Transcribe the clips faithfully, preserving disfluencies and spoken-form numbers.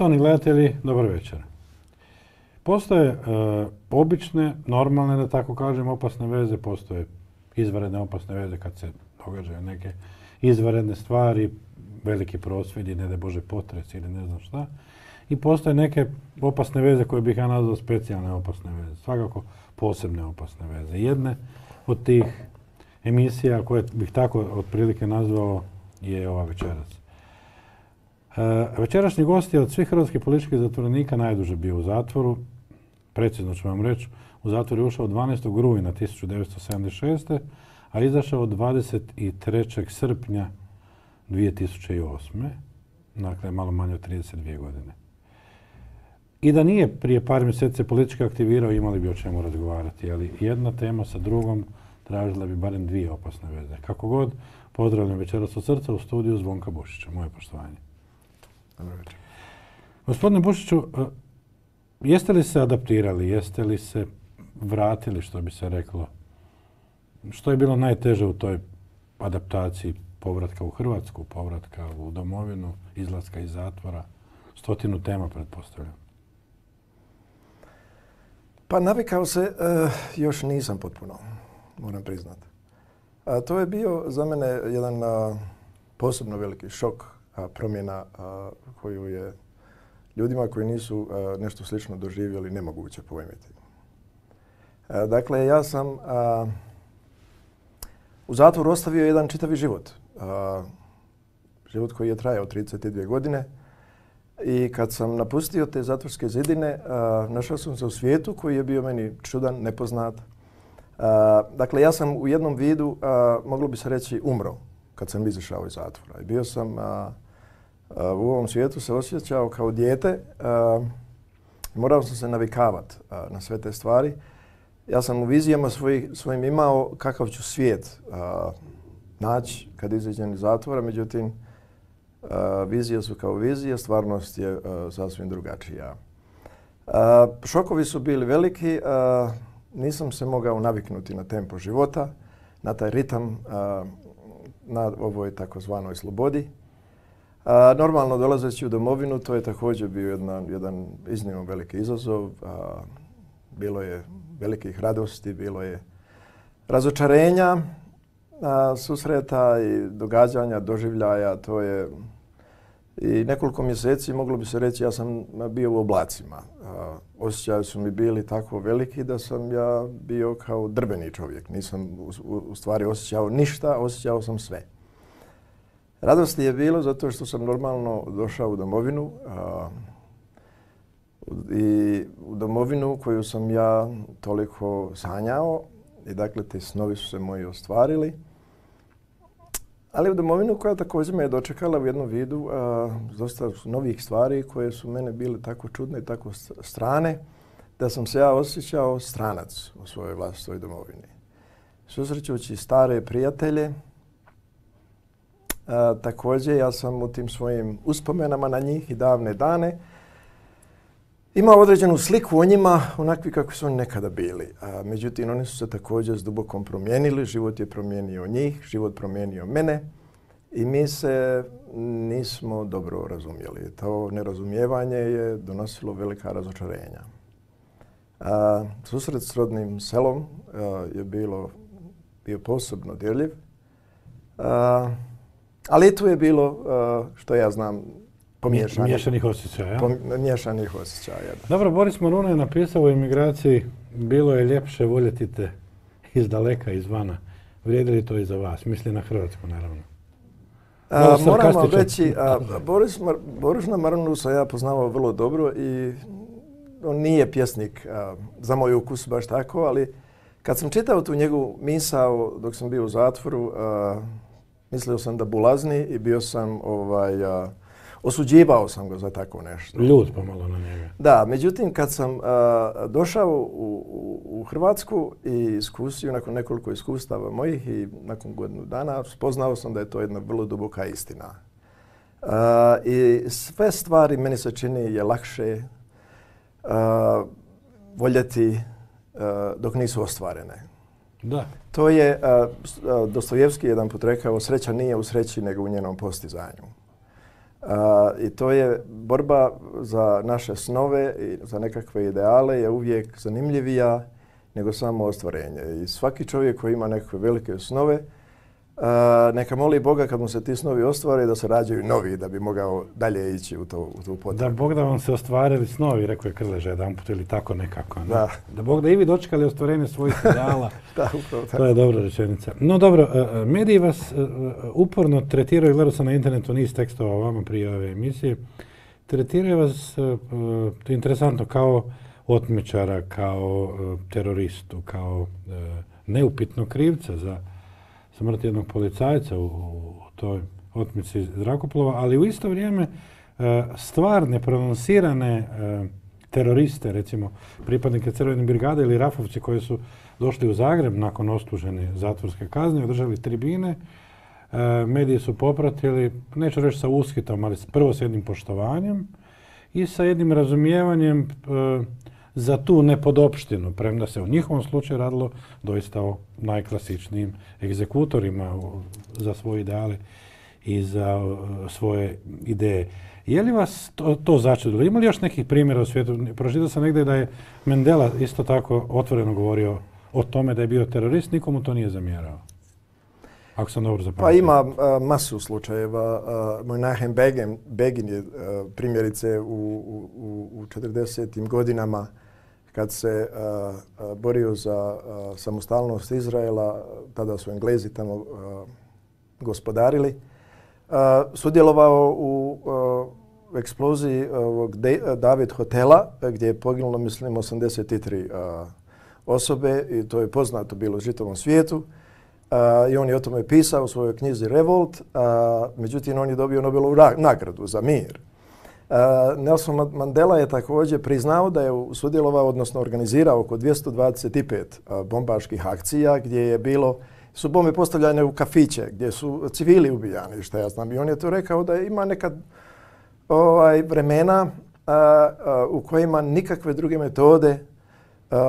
Poštovani gledatelji, dobar večer. Postoje e, obične, normalne, da tako kažem, opasne veze, postoje izvanredne opasne veze kad se događaju neke izvanredne stvari, veliki prosvjedi, ne daj Bože potres ili ne znam šta. I postoje neke opasne veze koje bih ja nazvao specijalne opasne veze, svakako posebne opasne veze. Jedne od tih emisija koje bih tako otprilike nazvao je ova večeras. E, večerašnji gost je od svih hrvatskih političkih zatvorenika najduže bio u zatvoru. Precizno ću vam reći, u zatvor je ušao dvanaestog rujna tisuću devetsto sedamdeset šeste. a izašao dvadeset trećeg srpnja dvije tisuće osme. Dakle, malo manje od trideset dvije godine. I da nije prije par mjeseci politički aktivirao, imali bi o čemu razgovarati, ali jedna tema sa drugom tražila bi barem dvije opasne veze. Kako god, pozdravljam večeras od srca u studiju Zvonka Bušića. Moje poštovanje. Dobro večer. Gospodine Bušiću, jeste li se adaptirali, jeste li se vratili, što bi se reklo? Što je bilo najteže u toj adaptaciji povratka u Hrvatsku, povratka u domovinu, izlaska iz zatvora? Stotinu tema, pretpostavljam. Pa navikao se, uh, još nisam potpuno, moram priznati. A to je bio za mene jedan uh, posebno veliki šok, uh, promjena uh, koju je ljudima koji nisu uh, nešto slično doživjeli nemoguće pojmiti. Uh, dakle, ja sam uh, u zatvoru ostavio jedan čitavi život. Uh, život koji je trajao trideset dvije godine. I kad sam napustio te zatvorske zidine, uh, našao sam se u svijetu koji je bio meni čudan, nepoznat. Uh, dakle, ja sam u jednom vidu, uh, moglo bi se reći, umro kad sam izašao iz zatvora. I bio sam, uh, uh, u ovom svijetu se osjećao kao dijete. Uh, morao sam se navikavati uh, na sve te stvari. Ja sam u vizijama svojih, svojim imao kakav ću svijet uh, naći kad izađem iz zatvora, međutim, Uh, vizije su kao vizije, stvarnost je uh, sasvim drugačija. Uh, šokovi su bili veliki, uh, nisam se mogao naviknuti na tempo života, na taj ritam, uh, na ovoj takozvanoj slobodi. Uh, normalno, dolazeći u domovinu, to je također bio jedan, jedan iznimno veliki izazov. Uh, bilo je velikih radosti, bilo je razočarenja, uh, susreta i događanja, doživljaja. To je i nekoliko mjeseci, moglo bi se reći, ja sam bio u oblacima. Uh, osjećaji su mi bili tako veliki da sam ja bio kao drbeni čovjek. Nisam u, u, u stvari osjećao ništa, osjećao sam sve. Radosti je bilo zato što sam normalno došao u domovinu uh, i u domovinu koju sam ja toliko sanjao i dakle ti snovi su se moji ostvarili. Ali u domovinu koja također me je dočekala u jednom vidu uh, dosta novih stvari koje su mene bile tako čudne i tako strane da sam se ja osjećao stranac u svojoj vlastitoj domovini. Susrećući stare prijatelje, uh, također ja sam u tim svojim uspomenama na njih i davne dane imao određenu sliku o njima, onakvi kako su oni nekada bili. A, međutim, oni su se također s dubokom promijenili, život je promijenio njih, život promijenio mene i mi se nismo dobro razumjeli. To nerazumijevanje je donosilo velika razočarenja. A, susret s rodnim selom a, je bilo, bio posebno dirljiv, a, ali tu je bilo, a, što ja znam, Pomiješanih, miješanih osjećaja. Pomiješanih osjećaja. Da. Dobro, Boris Moruna je napisao u emigraciji: bilo je ljepše voljeti te iz daleka, izvana. Vrijedi li to i za vas? Misli na Hrvatsku, naravno. A, moram vam reći, a, Boris, Mar, Borisa Marunu sam ja poznavao vrlo dobro i on nije pjesnik a, za moj ukus baš tako, ali kad sam čitao tu njegovu misao dok sam bio u zatvoru, a, mislio sam da bulazni i bio sam ovaj, a, osuđivao sam ga za tako nešto. Ljud pomalo na njega. Da, međutim, kad sam uh, došao u, u, u Hrvatsku i iskusio nakon nekoliko iskustava mojih i nakon godinu dana, spoznao sam da je to jedna vrlo duboka istina. Uh, I sve stvari, meni se čini, je lakše uh, voljeti uh, dok nisu ostvarene. Da. To je, uh, Dostojevski jedan put rekao, sreća nije u sreći nego u njenom postizanju. A, I to je borba za naše snove i za nekakve ideale je uvijek zanimljivija nego samo ostvarenje. I svaki čovjek koji ima nekakve velike snove, a, neka moli Boga kad mu se ti snovi ostvare da se rađaju novi da bi mogao dalje ići u, to, u tu potrebu. Da Bog da vam se ostvarili snovi, rekao je Krleža jedanput ili tako nekako. Ne? Da. Da Bog da i vi dočekali ostvarenje svojih ideala. Da, upravo tako. To je dobra rečenica. No dobro, mediji vas uporno tretiraju, gledao sam na internetu niz tekstova o vama prije ove emisije, tretiraju vas, to je interesantno, kao otmičara, kao teroristu, kao neupitnog krivca za smrt jednog policajca u, u toj otmici zrakoplova, ali u isto vrijeme stvarne, prononsirane teroriste, recimo pripadnike Crvene brigade ili Rafovci koji su došli u Zagreb nakon odslužene zatvorske kazne, održali tribine, mediji su popratili, neću reći sa ushitom, ali prvo s jednim poštovanjem i sa jednim razumijevanjem za tu nepodopštinu, premda se u njihovom slučaju radilo doista o najklasičnijim egzekutorima za svoje ideale i za svoje ideje. Je li vas to, to začudilo? Ima li još nekih primjera u svijetu? Pročitao sam negdje da je Mandela isto tako otvoreno govorio o tome da je bio terorist, nikomu to nije zamjerao. Ako sam dobro zapamtio. Pa ima a, masu slučajeva. Menachem Begin, Begin je a, primjerice u, u, u četrdesetim godinama kad se a, a, borio za a, samostalnost Izraela, tada su Englezi tamo a, gospodarili, a, sudjelovao u a, eksploziji ovog De, David hotela gdje je poginulo, mislim, osamdeset tri a, osobe i to je poznato bilo u čitavom svijetu. Uh, I on je o tome pisao u svojoj knjizi Revolt, uh, međutim on je dobio Nobelovu nagradu za mir. Uh, Nelson Mandela je također priznao da je sudjelovao, odnosno organizirao oko dvjesto dvadeset pet uh, bombaških akcija gdje je bilo, su bombe postavljane u kafiće, gdje su civili ubijani, što ja znam. I on je to rekao da ima nekad ovaj, vremena uh, uh, u kojima nikakve druge metode Uh,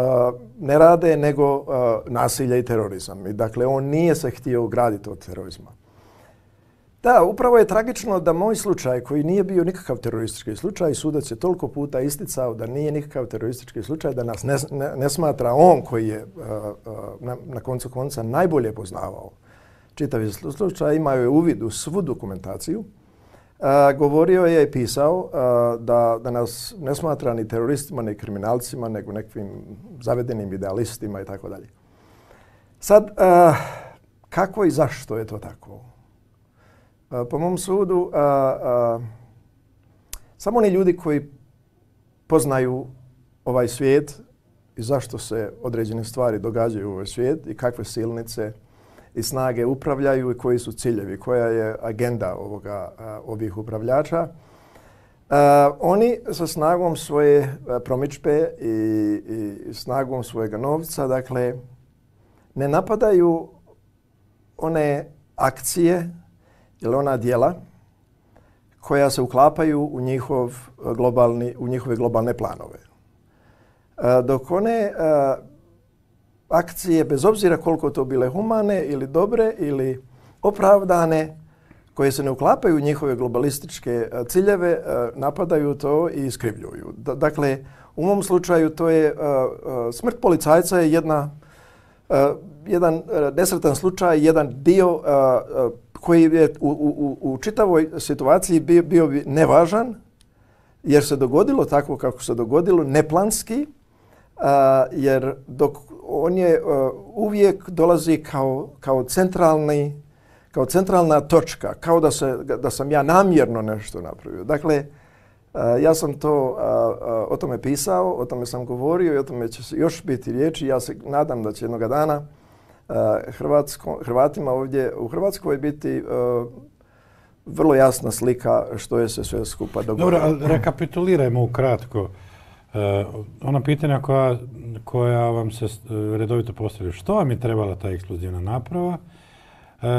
ne rade nego uh, nasilje i terorizam. I dakle, on nije se htio ugraditi od terorizma. Da, upravo je tragično da moj slučaj, koji nije bio nikakav teroristički slučaj, sudac je toliko puta isticao da nije nikakav teroristički slučaj, da nas ne, ne, ne smatra on koji je uh, uh, na, na koncu konca najbolje poznavao čitavi slučaj, imao je uvid u svu dokumentaciju. Uh, govorio je i pisao uh, da, da nas ne smatra ni teroristima, ni kriminalcima, nego nekakvim zavedenim idealistima i tako dalje. Sad, uh, kako i zašto je to tako? Uh, po mom sudu, uh, uh, samo oni ljudi koji poznaju ovaj svijet i zašto se određene stvari događaju u ovaj svijet i kakve silnice i snage upravljaju i koji su ciljevi, koja je agenda ovoga, uh, ovih upravljača. Uh, oni sa snagom svoje uh, promidžbe i, i snagom svojega novca, dakle, ne napadaju one akcije ili ona djela koja se uklapaju u, njihov globalni, u njihove globalne planove. Uh, dok one uh, akcije, bez obzira koliko to bile humane ili dobre ili opravdane, koje se ne uklapaju u njihove globalističke ciljeve, napadaju to i iskrivljuju. Dakle, u mom slučaju to je smrt policajca je jedna, jedan nesretan slučaj, jedan dio koji je u, u, u čitavoj situaciji bio, bio bi nevažan, jer se dogodilo tako kako se dogodilo, neplanski, jer dok on je uh, uvijek dolazi kao, kao, centralni, kao centralna točka, kao da, se, da sam ja namjerno nešto napravio. Dakle, uh, ja sam to uh, uh, o tome pisao, o tome sam govorio i o tome će još biti riječi. Ja se nadam da će jednoga dana uh, Hrvatsko, Hrvatima ovdje u Hrvatskoj biti uh, vrlo jasna slika što je se sve skupa dogodilo. Dobro, rekapitulirajmo ukratko. Uh, ona pitanja koja, koja vam se uh, redovito postavljaju. Što vam je trebala ta eksplozivna naprava? Uh,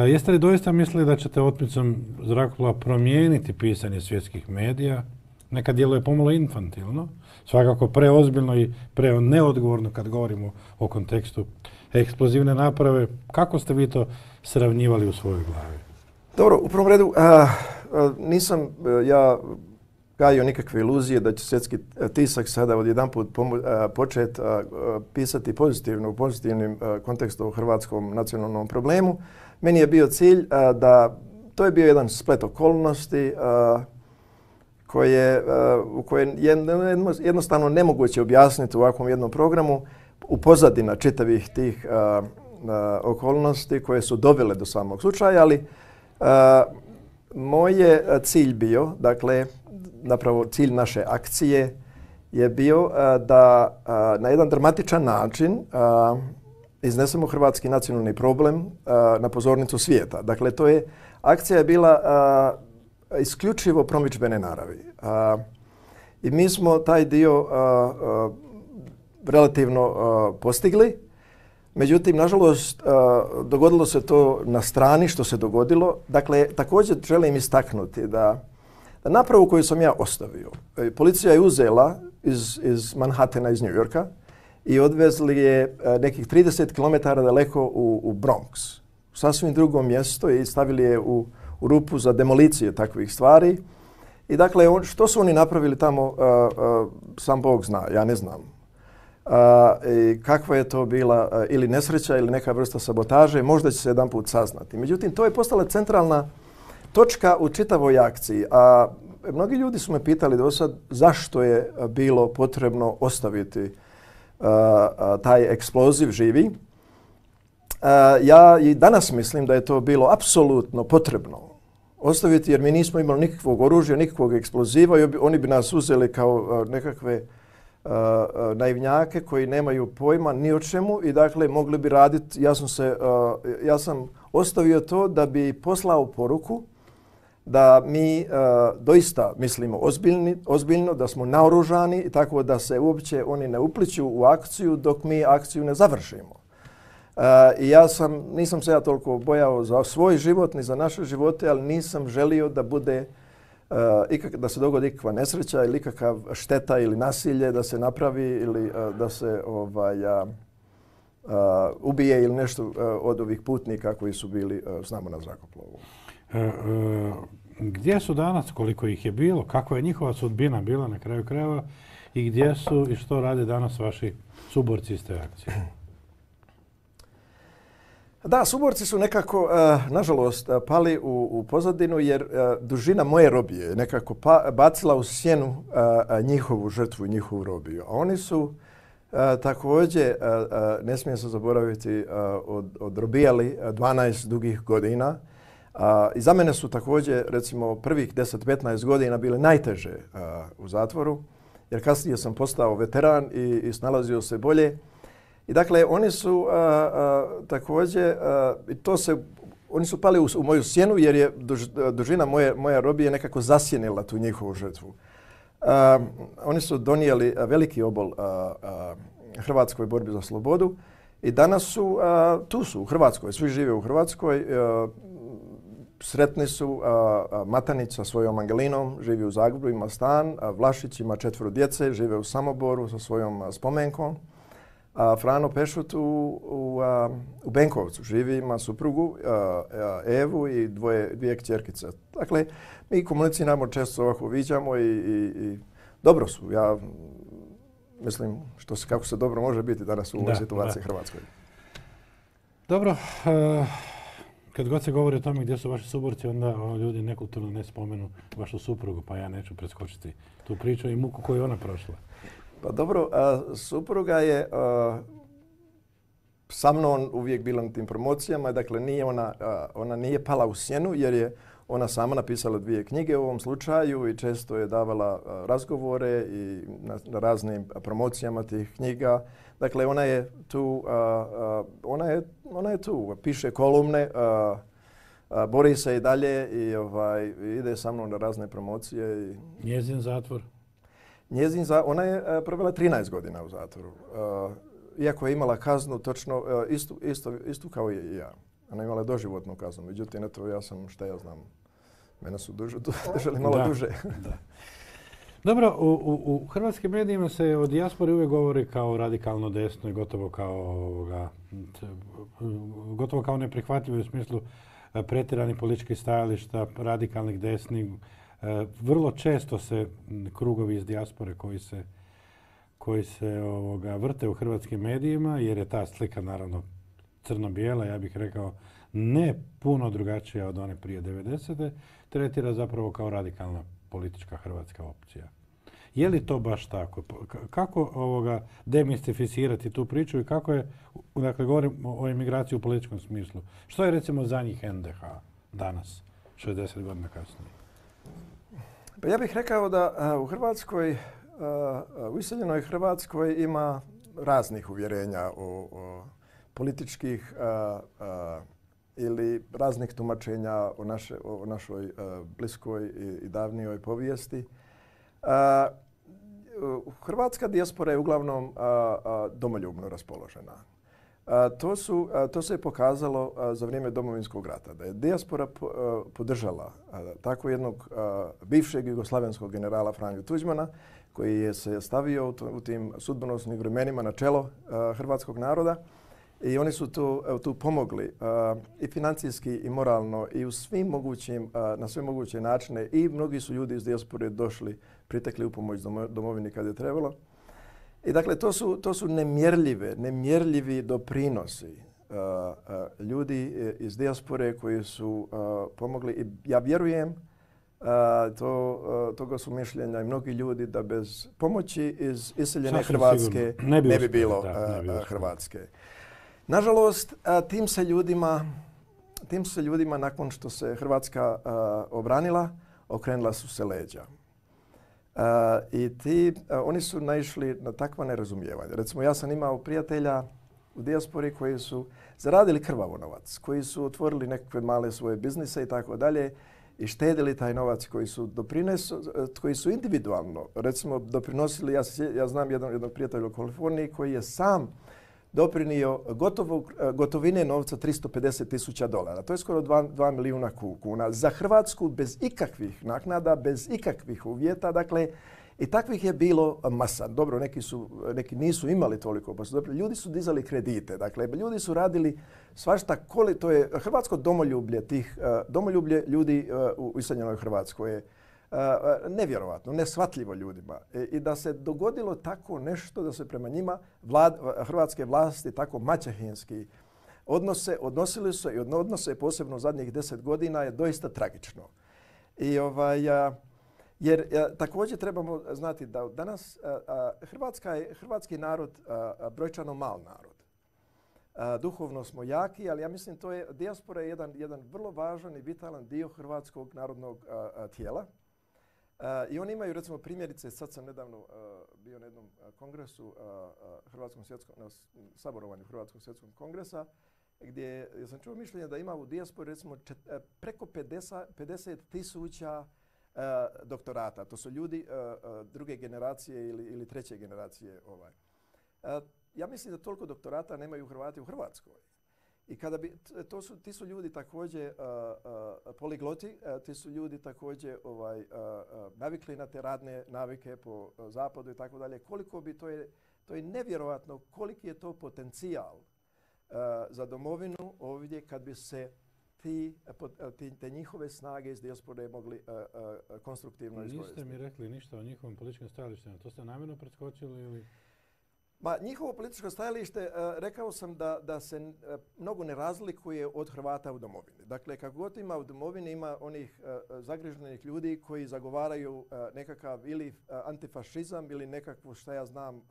jeste li doista mislili da ćete otmicom zrakoplova promijeniti pisanje svjetskih medija? Nekad djeluje pomalo infantilno, svakako preozbiljno i pre neodgovorno kad govorimo o kontekstu eksplozivne naprave. Kako ste vi to sravnjivali u svojoj glavi? Dobro, u prvom redu, uh, nisam ja gajio nikakve iluzije da će svjetski tisak sada odjedanput početi pisati pozitivno, u pozitivnim kontekstu o hrvatskom nacionalnom problemu. Meni je bio cilj da to je bio jedan splet okolnosti koje, u koje je jednostavno nemoguće objasniti u ovakvom jednom programu u pozadina čitavih tih okolnosti koje su dovele do samog slučaja, ali moj je cilj bio, dakle, napravo cilj naše akcije je bio da na jedan dramatičan način iznesemo hrvatski nacionalni problem na pozornicu svijeta. Dakle, to je, akcija je bila isključivo promidžbene naravi. I mi smo taj dio relativno postigli. Međutim, nažalost, dogodilo se to na strani što se dogodilo. Dakle, također želim istaknuti da, da napravu koju sam ja ostavio, policija je uzela iz, iz Manhattana, iz New Yorka i odvezli je nekih trideset kilometara daleko u, u Bronx, u sasvim drugo mjesto i stavili je u, u rupu za demolicije takvih stvari. I dakle, on, što su oni napravili tamo, uh, uh, sam Bog zna, ja ne znam. Uh, i kakva je to bila uh, ili nesreća ili neka vrsta sabotaže, možda će se jedan put saznati. Međutim, to je postala centralna točka u čitavoj akciji. A mnogi ljudi su me pitali do sad zašto je bilo potrebno ostaviti uh, uh, taj eksploziv živi. Uh, ja i danas mislim da je to bilo apsolutno potrebno ostaviti jer mi nismo imali nikakvog oružja, nikakvog eksploziva i oni bi nas uzeli kao uh, nekakve Uh, uh, naivnjake koji nemaju pojma ni o čemu i dakle mogli bi raditi, ja sam, se, uh, ja sam ostavio to da bi poslao poruku da mi uh, doista mislimo ozbiljni, ozbiljno, da smo naoružani i tako da se uopće oni ne upliću u akciju dok mi akciju ne završimo. Uh, I ja sam, nisam se ja toliko bojao za svoj život ni za naše živote, ali nisam želio da bude Uh, ikak, da se dogodi ikakva nesreća ili ikakav šteta ili nasilje da se napravi ili uh, da se ovaj, uh, uh, ubije ili nešto uh, od ovih putnika koji su bili uh, s nama na zrakoplovu. E, e, gdje su danas, koliko ih je bilo, kakva je njihova sudbina bila na kraju krajeva i gdje su i što rade danas vaši suborci iz te akcije? Da, suborci su nekako, uh, nažalost, uh, pali u, u pozadinu jer uh, dužina moje robije je nekako pa, bacila u sjenu uh, uh, njihovu žrtvu i njihovu robiju. A oni su uh, također, uh, uh, ne smije se zaboraviti, uh, od, odrobijali dvanaest dugih godina. Uh, I za mene su također, recimo, prvih deset do petnaest godina bile najteže uh, u zatvoru, jer kasnije sam postao veteran i, i snalazio se bolje. I dakle, oni su uh, uh, također, uh, i to se, oni su pali u, u moju sjenu jer je duž, dužina moje, moja robije nekako zasjenila tu njihovu žrtvu. Uh, oni su donijeli veliki obol uh, uh, Hrvatskoj borbi za slobodu i danas su, uh, tu su u Hrvatskoj, svi žive u Hrvatskoj. Uh, sretni su, uh, uh, Matanić sa svojom Angelinom živi u Zagrebu, ima stan, uh, Vlašić ima četvero djece, žive u Samoboru sa svojom uh, spomenkom. A Frano Pešut u, u, a, u Benkovcu živi, ima suprugu a, a, Evu i dvoje, dvije kćerkice. Dakle, mi komuniciramo, često ovako viđamo i, i, i dobro su. Ja mislim što se, kako se dobro može biti danas u ovoj da, situaciji da. Hrvatskoj. Dobro, uh, kad god se govori o tome gdje su vaši suborci, onda o, ljudi nekulturno ne spomenu vašu suprugu, pa ja neću preskočiti tu priču i muku koju je ona prošla. Pa dobro, a, supruga je a, sa mnom uvijek bila na tim promocijama, dakle nije ona, a, ona nije pala u sjenu jer je ona sama napisala dvije knjige u ovom slučaju i često je davala a, razgovore i na, na raznim promocijama tih knjiga. Dakle, ona je tu, a, a, ona je, ona je tu, piše kolumne, a, a, bori se i dalje i ovaj, ide sa mnom na razne promocije. I njezin zatvor? Njezin za, ona je uh, provela trinaest godina u zatvoru. Uh, iako je imala kaznu točno uh, istu, istu, istu kao i ja. Ona je imala doživotnu kaznu. Međutim, eto, ja sam, šta ja znam, mene su duže, držali malo da, duže. Da. Dobro, u, u, u hrvatskim medijima se o dijaspori uvijek govori kao radikalno desno i gotovo kao, ovoga, gotovo kao neprihvatljivo u smislu pretjeranih političkih stajališta, radikalnih desnih. Vrlo često se krugovi iz dijaspore koji se, koji se ovoga, vrte u hrvatskim medijima, jer je ta slika naravno crno-bijela, ja bih rekao, ne puno drugačija od one prije devedesete, tretira zapravo kao radikalna politička hrvatska opcija. Je li to baš tako? Kako ovoga demistificirati tu priču i kako je, dakle govorim o emigraciji u političkom smislu, što je recimo za njih en de ha danas, šezdeset godina kasnije? Pa ja bih rekao da uh, u Hrvatskoj, uh, u iseljenoj Hrvatskoj ima raznih uvjerenja o, o političkih uh, uh, ili raznih tumačenja o, naše, o našoj uh, bliskoj i, i davnijoj povijesti. Uh, Hrvatska dijaspora je uglavnom uh, uh, domoljubno raspoložena. Uh, to, su, uh, to se je pokazalo uh, za vrijeme Domovinskog rata, da je dijaspora po, uh, podržala uh, tako jednog uh, bivšeg jugoslavenskog generala Franju Tuđmana, koji je se stavio u, to, u tim sudbonosnim vremenima na čelo uh, hrvatskog naroda. I oni su tu, tu pomogli uh, i financijski i moralno i u svim mogućim, uh, na sve moguće načine i mnogi su ljudi iz dijaspore došli, pritekli u pomoć domovini kad je trebalo. I dakle, to su, to su nemjerljive, nemjerljivi doprinosi uh, uh, ljudi iz dijaspore koji su uh, pomogli i ja vjerujem, uh, to, uh, toga su mišljenja i mnogi ljudi da bez pomoći iz iseljene Hrvatske ne bi, ne bi bilo da, ne bi uh, Hrvatske. Nažalost, tim se ljudima, tim se ljudima nakon što se Hrvatska uh, obranila, okrenula su se leđa. Uh, I ti, uh, oni su naišli na takva nerazumijevanja. Recimo, ja sam imao prijatelja u dijaspori koji su zaradili krvavo novac, koji su otvorili nekakve male svoje biznise i tako dalje i štedili taj novac koji su doprinesu, koji su individualno, recimo, doprinosili. Ja, ja znam jednog, jednog prijatelja u Kaliforniji koji je sam doprinio gotovog, gotovine novca tristo pedeset tisuća dolara. To je skoro dva milijuna kuna. Za Hrvatsku bez ikakvih naknada, bez ikakvih uvjeta. Dakle, i takvih je bilo masa. Dobro, neki, su, neki nisu imali toliko, pa su ljudi su dizali kredite. Dakle, ljudi su radili svašta, koli, to je hrvatsko domoljublje, tih, domoljublje ljudi u iseljenoj Hrvatskoj je Uh, nevjerovatno, neshvatljivo ljudima. I, I da se dogodilo tako nešto, da se prema njima vlad, hrvatske vlasti tako maćehinski odnose, odnosili su i odnose posebno zadnjih deset godina je doista tragično. I ovaj, a, jer a, također trebamo znati da danas a, a, Hrvatska je, hrvatski narod a, a, brojčano mal narod. A, duhovno smo jaki, ali ja mislim to je, dijaspora je jedan, jedan vrlo važan i vitalan dio hrvatskog narodnog a, a, tijela. Uh, I oni imaju, recimo, primjerice, sad sam nedavno uh, bio na jednom uh, kongresu, uh, uh, Hrvatskom svjetskom, na saborovanju Hrvatskog svjetskog kongresa, gdje ja sam čuo mišljenje da ima u dijaspori, recimo, čet, uh, preko pedeset tisuća uh, doktorata. To su ljudi uh, uh, druge generacije ili, ili treće generacije. Ovaj. Uh, ja mislim da toliko doktorata nemaju Hrvati u Hrvatskoj. I kada bi, to su, ti su ljudi također uh, uh, poligloti, uh, ti su ljudi također ovaj, uh, uh, navikli na te radne navike po uh, zapadu i tako dalje. Koliko bi, to je, to je nevjerojatno koliki je to potencijal uh, za domovinu ovdje kad bi se ti, uh, ti, te njihove snage iz dijaspore mogli uh, uh, konstruktivno iskoristiti. Niste mi rekli ništa o njihovim političkim stajalištima. To ste namjerno preskočili ili... Ma, njihovo političko stajalište, uh, rekao sam da, da se uh, mnogo ne razlikuje od Hrvata u domovini. Dakle, kako god ima u domovini, ima onih uh, zagrižnenih ljudi koji zagovaraju uh, nekakav ili uh, antifašizam ili nekakvu, šta ja znam, uh,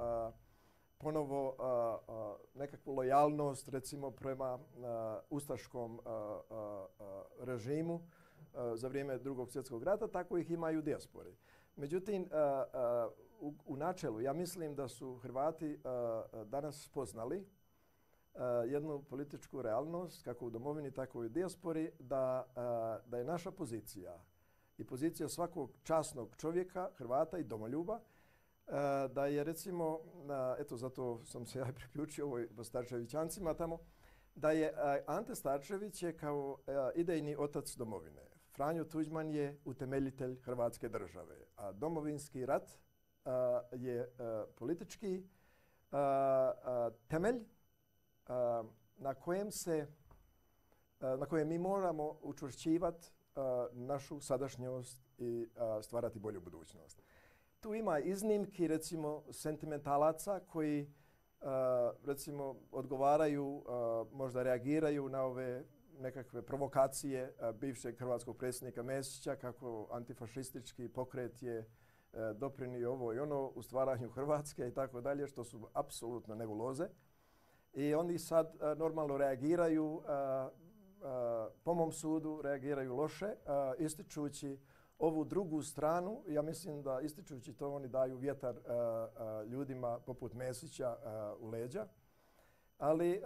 ponovo uh, uh, nekakvu lojalnost, recimo, prema uh, ustaškom uh, uh, režimu uh, za vrijeme Drugog svjetskog rata, tako ih ima i u dijaspori. Međutim, uh, uh, U, u načelu, ja mislim da su Hrvati uh, danas spoznali uh, jednu političku realnost, kako u domovini, tako i u dijaspori, da, uh, da je naša pozicija i pozicija svakog časnog čovjeka, Hrvata i domoljuba, uh, da je recimo, uh, eto zato sam se ja priključio ovoj Starčevićancima tamo, da je uh, Ante Starčević je kao uh, idejni otac domovine. Franjo Tuđman je utemeljitelj Hrvatske države, a Domovinski rat Uh, je uh, politički uh, uh, temelj uh, na kojem se na koje mi moramo učvršćivati našu sadašnjost i stvarati bolju budućnost. Tu ima iznimki, recimo, sentimentalaca koji recimo odgovaraju, možda reagiraju na ove nekakve provokacije bivšeg hrvatskog predsjednika Mesića kako antifašistički pokret je doprinio ovo i ono u stvaranju Hrvatske i tako dalje, što su apsolutno nebuloze. I oni sad normalno reagiraju, po mom sudu reagiraju loše, ističući ovu drugu stranu. Ja mislim da ističući to oni daju vjetar ljudima poput Mesića u leđa. Ali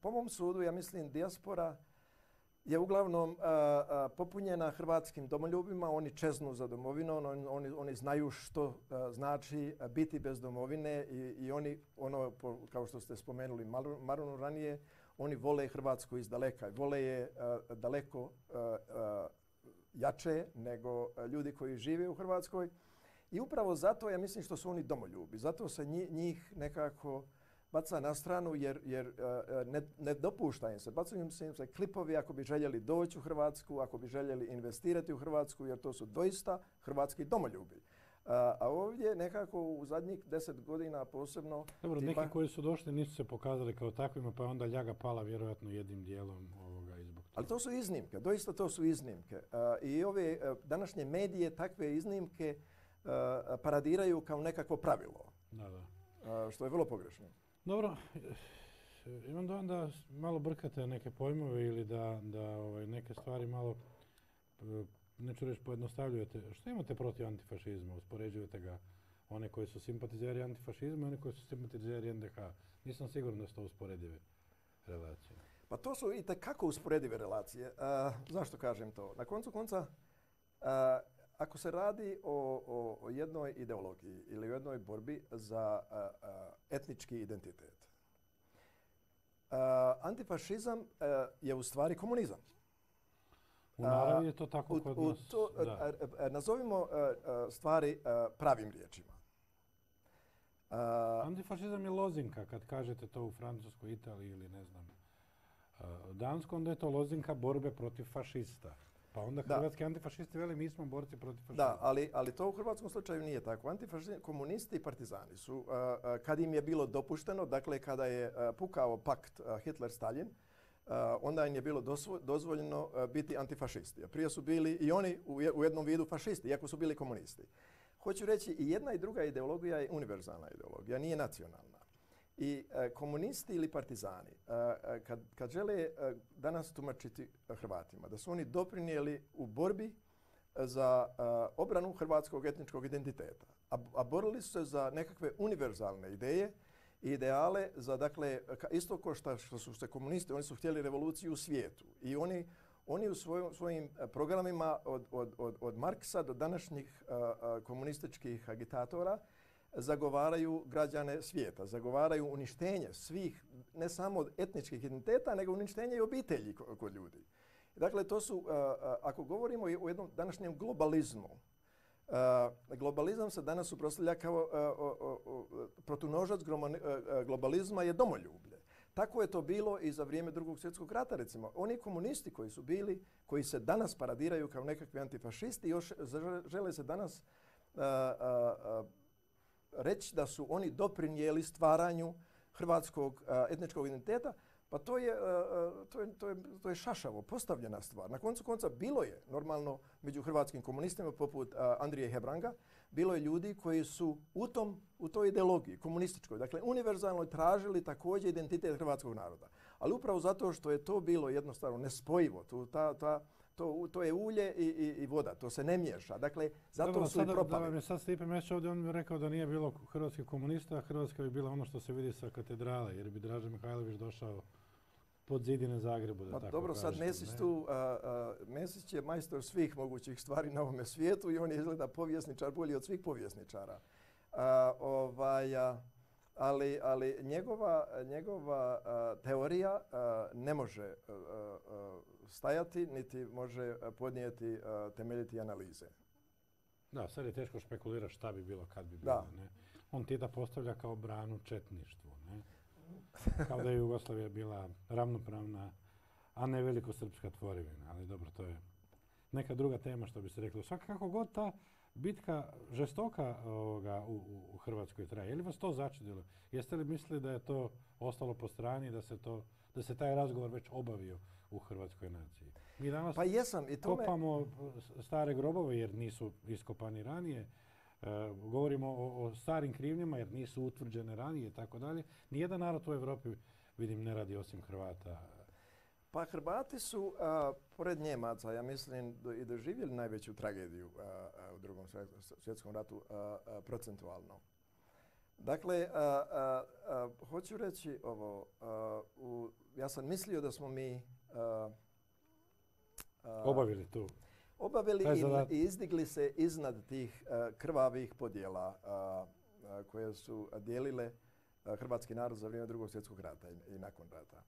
po mom sudu ja mislim dijaspora je uglavnom popunjena hrvatskim domoljubima. Oni čeznu za domovinom, oni, oni znaju što znači biti bez domovine i, i oni, ono, kao što ste spomenuli Marunu ranije, oni vole Hrvatsku iz daleka. Vole je daleko jače nego ljudi koji žive u Hrvatskoj. I upravo zato ja mislim što su oni domoljubi. Zato se njih nekako baca na stranu jer, jer ne, ne dopušta im se. Bacaju im se, im se klipovi ako bi željeli doći u Hrvatsku, ako bi željeli investirati u Hrvatsku, jer to su doista hrvatski domoljubi. A, a ovdje nekako u zadnjih deset godina posebno... Dobro, tipa... neki koji su došli nisu se pokazali kao takvima, pa je onda ljaga pala vjerojatno jednim dijelom ovoga i zbog toga. Ali to su iznimke, doista to su iznimke. A, I ove a, današnje medije takve iznimke a, paradiraju kao nekakvo pravilo. Da, da. A, što je vrlo pogrešno. Dobro, imam dojam da malo brkate neke pojmove ili da, da ovaj, neke stvari malo, neću reći, pojednostavljujete. Što imate protiv antifašizma? Uspoređujete ga one koji su simpatizeri antifašizma i one koji su simpatizeri en de ha. Nisam siguran da su to usporedive relacije. Pa to su i tekako usporedive relacije. A, zašto kažem to? Na koncu konca, a, ako se radi o, o, o jednoj ideologiji ili o jednoj borbi za a, a, etnički identitet, a, antifašizam a, je u stvari komunizam. U naravi je to tako u, kod u nas. To, da. a, a, nazovimo a, a, stvari a, pravim riječima. A, Antifašizam je lozinka, kad kažete to u Francuskoj, Italiji ili ne znam, Danskoj, onda je to lozinka borbe protiv fašista. Pa onda hrvatski da. Antifašisti veli mi smo borci protiv fašista. Da, ali, ali to u hrvatskom slučaju nije tako. Antifašisti, komunisti i partizani su, uh, uh, kad im je bilo dopušteno, dakle kada je uh, pukao pakt uh, Hitler-Stalin, uh, onda im je bilo dozvoljeno uh, biti antifašisti. A prije su bili i oni u, je, u jednom vidu fašisti, iako su bili komunisti. Hoću reći, i jedna i druga ideologija je univerzalna ideologija, nije nacionalna. I e, komunisti ili partizani, e, kad, kad žele e, danas tumačiti Hrvatima, da su oni doprinijeli u borbi za e, obranu hrvatskog etničkog identiteta, a, a borili su se za nekakve univerzalne ideje i ideale za, dakle, isto kao što, što su se komunisti, oni su htjeli revoluciju u svijetu i oni, oni u svojim, svojim programima od, od, od, od Marksa do današnjih a, a, komunističkih agitatora zagovaraju građane svijeta, zagovaraju uništenje svih, ne samo etničkih identiteta, nego uništenje i obitelji kod ljudi. Dakle, to su, ako govorimo o jednom današnjem globalizmu, globalizam se danas suprotstavlja kao protunožac globalizma je domoljublje. Tako je to bilo i za vrijeme Drugog svjetskog rata, recimo. Oni komunisti koji su bili, koji se danas paradiraju kao nekakvi antifašisti, još žele se danas reći da su oni doprinijeli stvaranju hrvatskog a, etničkog identiteta, pa to je, a, to, je, to, je, to je šašavo postavljena stvar. Na koncu konca bilo je normalno među hrvatskim komunistima poput a, Andrije Hebranga, bilo je ljudi koji su u, tom, u toj ideologiji komunističkoj, dakle univerzalno tražili također identitet hrvatskog naroda. Ali upravo zato što je to bilo jednostavno nespojivo, tu, ta, ta, To, to je ulje i, i, i voda, to se ne miješa. Dakle, zato Dobro, su sada, i propali. Da vam je sad Stipe Mesić ovdje, on bi rekao da nije bilo hrvatskih komunista, a Hrvatska bi bila ono što se vidi sa katedrale, jer bi Draža Mihajlović došao pod zidine Zagrebu, da pa, tako dobro, kažete. Sad Mesić tu, a, a, Mesić je majstor svih mogućih stvari na ovome svijetu i on je izgleda povjesničar bolji od svih povjesničara. A, ovaj, a, Ali, ali njegova, njegova uh, teorija uh, ne može uh, uh, stajati, niti može podnijeti uh, temeljiti analize. Da, sad je teško špekulirati šta bi bilo, kad bi bilo. Ne? On Tita postavlja kao branu četništvu. Ne? Kao da je Jugoslavija bila ravnopravna. a ne velikosrpska tvorevina. Ali dobro, to je neka druga tema što bi se reklo. Svakako god ta bitka žestoka ovoga, u, u Hrvatskoj traje. Je li vas to začudilo? Jeste li mislili da je to ostalo po strani, da se, to, da se taj razgovor već obavio u hrvatskoj naciji? Mi danas pa jesam, i tome... kopamo stare grobove jer nisu iskopani ranije. E, govorimo o, o starim krivnjama jer nisu utvrđene ranije i tako dalje. Nijedan narod u Europi, vidim, ne radi osim Hrvata. Pa Hrvati su, a, pored Njemaca, ja mislim, do, i doživjeli najveću tragediju a, a, u drugom svjetskom ratu a, a, procentualno. Dakle, a, a, a, hoću reći ovo, a, u, ja sam mislio da smo mi a, a, obavili tu. Obavili i, i izdigli se iznad tih a, krvavih podjela a, a, koje su dijelile a, hrvatski narod za vrijeme drugog svjetskog rata i, i nakon rata.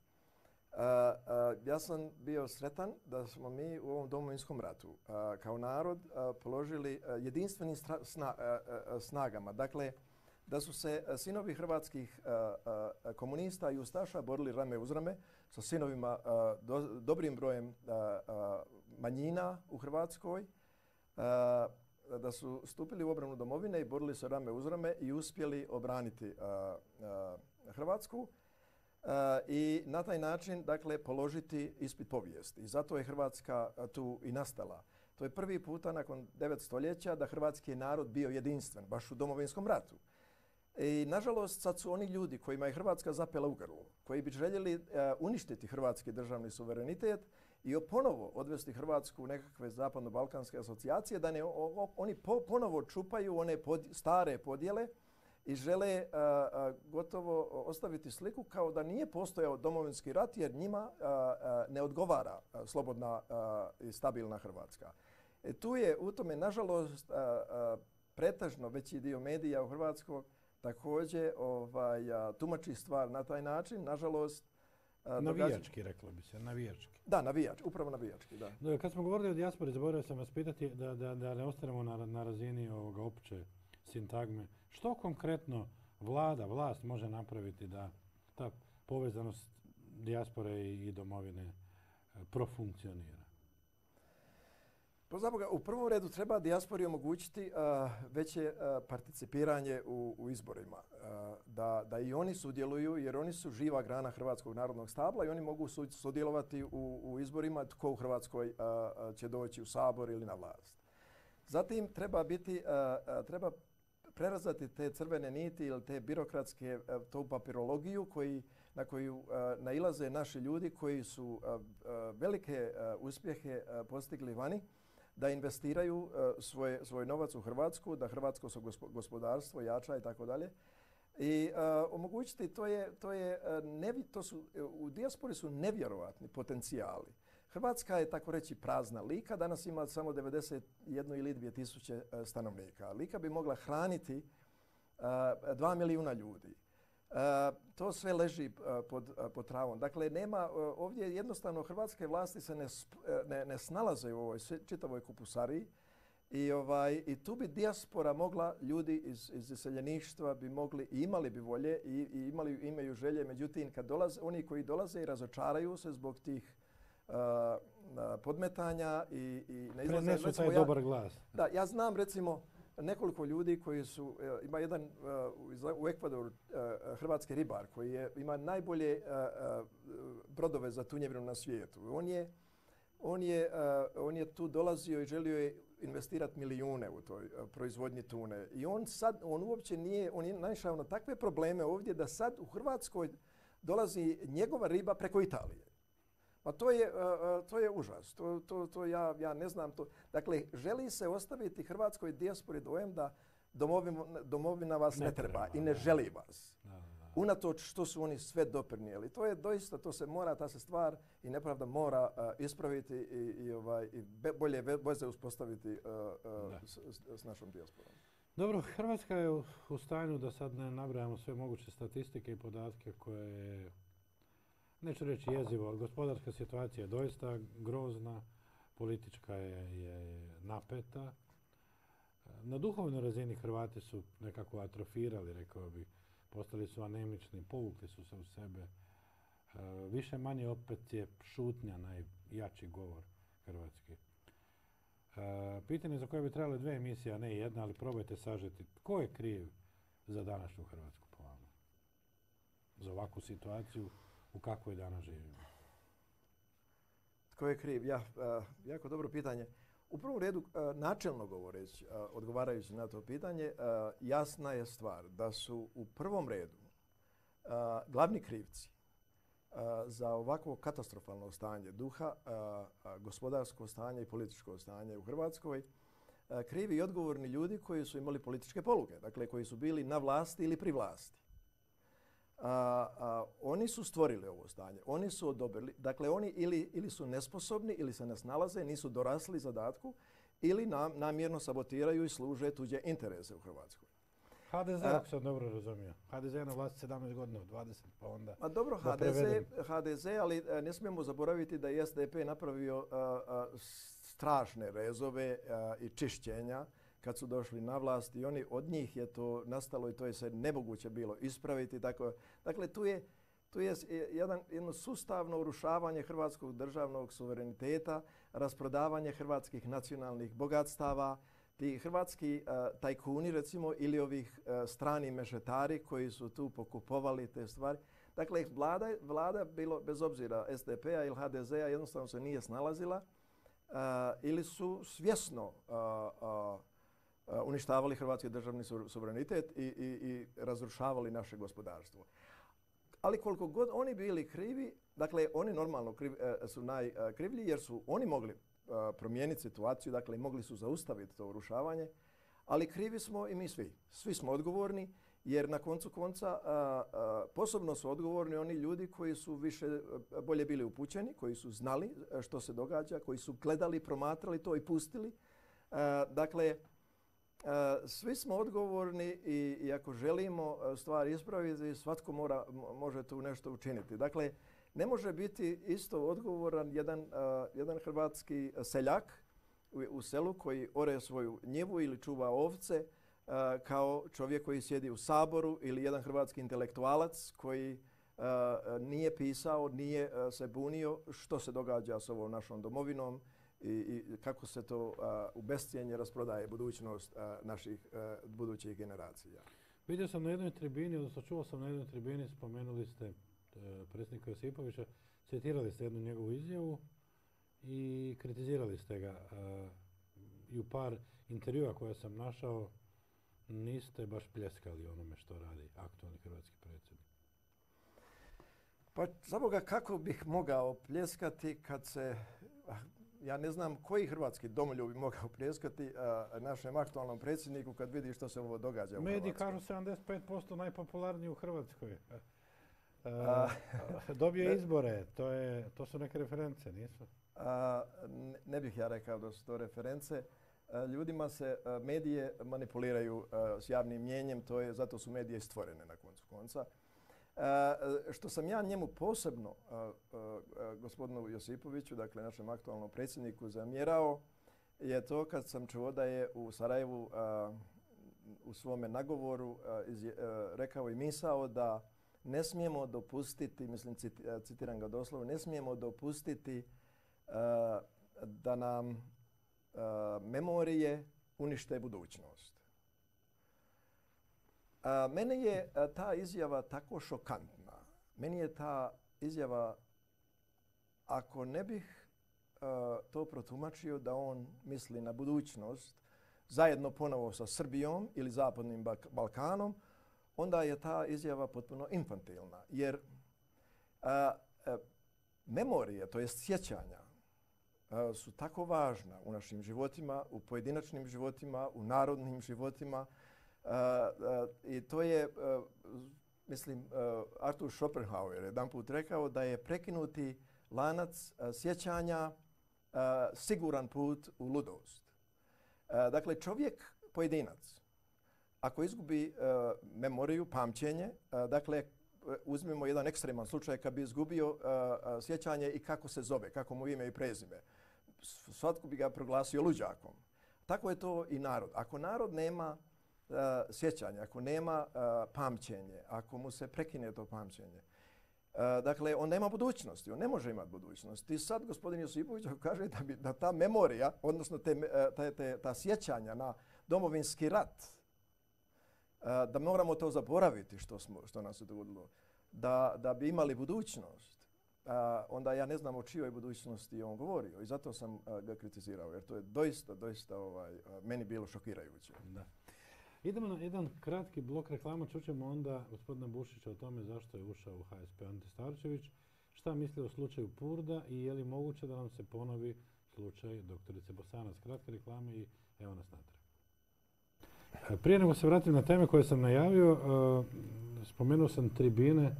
Uh, uh, ja sam bio sretan da smo mi u ovom Domovinskom ratu uh, kao narod uh, položili uh, jedinstvenim sna, uh, uh, snagama. Dakle, da su se uh, sinovi hrvatskih uh, uh, komunista i ustaša borili rame uz rame sa sinovima uh, do, dobrim brojem uh, uh, manjina u Hrvatskoj, uh, da su stupili u obranu domovine i borili se rame uz rame i uspjeli obraniti uh, uh, Hrvatsku. Uh, i na taj način, dakle, položiti ispit povijesti. I zato je Hrvatska uh, tu i nastala. To je prvi puta nakon devet stoljeća da hrvatski narod bio jedinstven, baš u Domovinskom ratu. I, nažalost, sad su oni ljudi kojima je Hrvatska zapela u grlu, koji bi željeli uh, uništiti hrvatski državni suverenitet i ponovo odvesti Hrvatsku u nekakve zapadno-balkanske asocijacije, da ne, o, o, oni po, ponovo čupaju one pod, stare podjele i žele a, a, gotovo ostaviti sliku kao da nije postojao Domovinski rat jer njima a, a, ne odgovara a, slobodna a, i stabilna Hrvatska. E, tu je u tome, nažalost, a, a, pretežno veći dio medija u Hrvatskoj također ovaj, a, tumači stvar na taj način, nažalost. A, navijački, reklo bi se, navijački. Da, navijački, upravo navijački, da. No, kad smo govorili o dijaspori, zaboravio sam vas pitati da, da, da ne ostanemo na, na razini ovoga opće sintagme. Što konkretno vlada, vlast može napraviti da ta povezanost dijaspore i, i domovine e, profunkcionira? Pa zaboga, u prvom redu treba dijaspori omogućiti uh, veće uh, participiranje u, u izborima. Uh, da, da i oni sudjeluju jer oni su živa grana hrvatskog narodnog stabla i oni mogu sudjelovati u, u izborima tko u Hrvatskoj uh, će doći u Sabor ili na vlast. Zatim treba biti, uh, uh, treba prerazati te crvene niti ili te birokratske, uh, tu papirologiju koji, na koju uh, nailaze naši ljudi koji su uh, uh, velike uh, uspjehe uh, postigli vani, da investiraju uh, svoj, svoj novac u Hrvatsku, da hrvatsko gospodarstvo jača i tako dalje. I uh, omogućiti, to je, to je, uh, nevi, to su, u dijaspori su nevjerovatni potencijali. Hrvatska je, tako reći, prazna. Lika danas ima samo devedeset jednu ili dvije tisuće uh, stanovnika. Lika bi mogla hraniti uh, dva milijuna ljudi. Uh, to sve leži uh, pod, uh, pod travom. Dakle, nema, uh, ovdje jednostavno hrvatske vlasti se ne, ne, ne snalaze u ovoj čitavoj kupusariji i, ovaj, i tu bi dijaspora mogla, ljudi iz, iz iseljeništva bi mogli i imali bi volje i, i imali, imaju želje, međutim, kad dolaze, oni koji dolaze i razočaraju se zbog tih uh, podmetanja i, i ne izlaze. Prenesu taj dobar glas. Da, ja znam, recimo, nekoliko ljudi koji su, ima jedan uh, u Ekvadoru uh, hrvatski ribar koji je, ima najbolje uh, uh, brodove za tunjevinu na svijetu. On je, on je, uh, on je tu dolazio i želio je investirati milijune u toj uh, proizvodnji tune. I on sad, on uopće nije, on je naišao na takve probleme ovdje da sad u Hrvatskoj dolazi njegova riba preko Italije. Pa to je, uh, to je užas. To, to, to ja, ja ne znam. To. Dakle, želi se ostaviti hrvatskoj dijaspori dojam da domovina, domovina vas ne, ne treba, treba i ne da. želi vas. Da, da. Unatoč što su oni sve doprinijeli. To je doista, to se mora, ta se stvar i nepravda mora uh, ispraviti i, i, ovaj, i be, bolje veze uspostaviti uh, uh, s, s našom dijasporom. Dobro, Hrvatska je u, u stanju da sad ne nabrajamo sve moguće statistike i podatke koje je, neću reći jezivo, ali gospodarska situacija je doista grozna, politička je, je napeta. Na duhovnoj razini Hrvati su nekako atrofirali, rekao bih, postali su anemični, povukli su se u sebe. više manje opet je šutnja najjači govor hrvatski. Pitanje za koje bi trebale dve emisije, a ne jedna, ali probajte sažeti. Tko je kriv za današnju Hrvatsku po vama? Za ovakvu situaciju u kakvoj danas živimo? Tko je kriv? Ja, jako dobro pitanje. U prvom redu, načelno govoreći, odgovarajući na to pitanje, jasna je stvar da su u prvom redu glavni krivci za ovakvo katastrofalno stanje duha, gospodarsko stanje i političko stanje u Hrvatskoj, krivi i odgovorni ljudi koji su imali političke poluge, dakle koji su bili na vlasti ili pri vlasti. A, a, oni su stvorili ovo stanje, oni su odobrili, dakle oni ili, ili su nesposobni ili se ne snalaze, nisu dorasli zadatku ili nam, namjerno sabotiraju i služe tuđe interese u Hrvatskoj. ha de ze, ako sam dobro razumio. ha de ze je na vlasti sedamnaest godina, dvadeset pa onda... A dobro, ha de ze, ha de ze, ali ne smijemo zaboraviti da je es de pe napravio a, a, strašne rezove a, i čišćenja kad su došli na vlast i oni od njih je to nastalo i to je se nemoguće bilo ispraviti. Tako, dakle, tu je, tu je jedan, jedno sustavno urušavanje hrvatskog državnog suvereniteta, rasprodavanje hrvatskih nacionalnih bogatstava, ti hrvatski uh, tajkuni recimo ili ovih uh, strani mešetari koji su tu pokupovali te stvari. Dakle, vlada, vlada bilo bez obzira es de pe-a ili ha de ze-a jednostavno se nije snalazila uh, ili su svjesno uh, uh, uništavali hrvatski državni suverenitet i, i, i razrušavali naše gospodarstvo. Ali koliko god oni bili krivi, dakle oni normalno kriv, su najkrivlji jer su oni mogli promijeniti situaciju, dakle mogli su zaustaviti to urušavanje, ali krivi smo i mi svi. Svi smo odgovorni jer na koncu konca a, a, posebno su odgovorni oni ljudi koji su više bolje bili upućeni, koji su znali što se događa, koji su gledali, promatrali to i pustili. A, dakle, Uh, svi smo odgovorni i, i ako želimo stvari ispraviti, svatko mora, može tu nešto učiniti. Dakle, ne može biti isto odgovoran jedan, uh, jedan hrvatski seljak u, u selu koji ore svoju njivu ili čuva ovce uh, kao čovjek koji sjedi u Saboru ili jedan hrvatski intelektualac koji uh, nije pisao, nije uh, se bunio što se događa s ovom našom domovinom i, i kako se to uh, u bescijenje rasprodaje budućnost uh, naših uh, budućih generacija. Vidio sam na jednoj tribini, odnosno čuo sam na jednoj tribini, spomenuli ste uh, predsjednika Josipovića, citirali ste jednu njegovu izjavu i kritizirali ste ga. Uh, I u par intervjua koje sam našao niste baš pljeskali onome što radi aktualni hrvatski predsjednik. Pa za Boga kako bih mogao pljeskati kad se... Ja ne znam koji hrvatski domoljub bi mogao pljeskati a, našem aktualnom predsjedniku kad vidi što se ovo događa u Hrvatskoj. Mediji kažu sedamdeset pet posto najpopularniji u Hrvatskoj. A, dobije izbore, to, je, to su neke reference, nisu? A, ne, ne bih ja rekao da su to reference. A, ljudima se a, medije manipuliraju a, s javnim mjenjem, to je, zato su medije stvorene na koncu konca. Uh, što sam ja njemu posebno, uh, uh, uh, gospodinu Josipoviću, dakle našem aktualnom predsjedniku, zamjerao, je to kad sam čuo da je u Sarajevu uh, u svome nagovoru uh, iz, uh, rekao i misao da ne smijemo dopustiti, mislim citi, uh, citiram ga doslovno, ne smijemo dopustiti uh, da nam uh, memorije unište budućnost. A, mene je a, ta izjava tako šokantna. Meni je ta izjava, ako ne bih a, to protumačio da on misli na budućnost zajedno ponovo sa Srbijom ili Zapadnim Balkanom, onda je ta izjava potpuno infantilna. Jer a, a, memorije, to jest sjećanja, a, su tako važna u našim životima, u pojedinačnim životima, u narodnim životima. Uh, uh, I to je, uh, mislim, uh, Arthur Schopenhauer jedan put rekao da je prekinuti lanac uh, sjećanja uh, siguran put u ludost. Uh, dakle, čovjek, pojedinac, ako izgubi uh, memoriju, pamćenje, uh, dakle, uzmimo jedan ekstreman slučaj kad bi izgubio uh, uh, sjećanje i kako se zove, kako mu ime i prezime, svatko bi ga proglasio luđakom. Tako je to i narod. Ako narod nema Uh, sjećanje, ako nema uh, pamćenje, ako mu se prekine to pamćenje, Dakle, on nema budućnosti, on ne može imati budućnosti. I sad gospodin Josipović kaže da, bi, da ta memorija, odnosno te, te, te, ta sjećanja na Domovinski rat, da moramo to zaboraviti što, smo, što nam se dogodilo, da, da bi imali budućnost, onda ja ne znam o čijoj budućnosti on govorio i zato sam ga kritizirao, jer to je doista, doista ovaj, meni bilo šokirajuće. Da. Idemo na jedan kratki blok reklama, čućemo onda gospodina Bušića o tome zašto je ušao u H S P Ante Starčević, šta misli o slučaju Purda i je li moguće da nam se ponovi slučaj doktorice Bosanac. Kratke reklame i evo nas natrag. Prije nego se vratim na teme koje sam najavio, spomenuo sam tribine.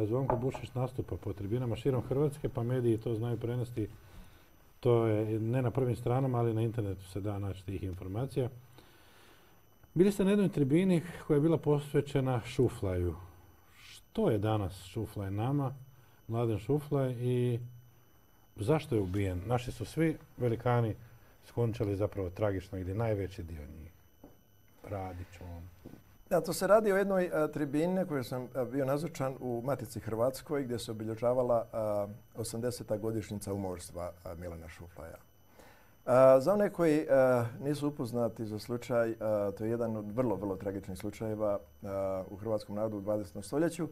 Zvonko Bušić nastupa po tribinama širom Hrvatske, pa mediji to znaju prenesti. To je ne na prvim stranama, ali na internetu se da naći tih informacija. Bili ste na jednoj tribini koja je bila posvećena Šuflaju. Što je danas Šuflaj nama, Mladen Šuflaj, i zašto je ubijen? Naši su svi velikani skončali zapravo tragično, ili najveći dio njih. Radić, on. Da, to se radi o jednoj a, tribini na kojoj sam a, bio nazočan u Matici Hrvatskoj, gdje se obilježavala a, osamdeseta godišnjica umorstva a, Milana Šuflaja. A, za one koji a, nisu upoznati za slučaj, a, to je jedan od vrlo, vrlo tragičnih slučajeva a, u hrvatskom narodu u dvadesetom stoljeću.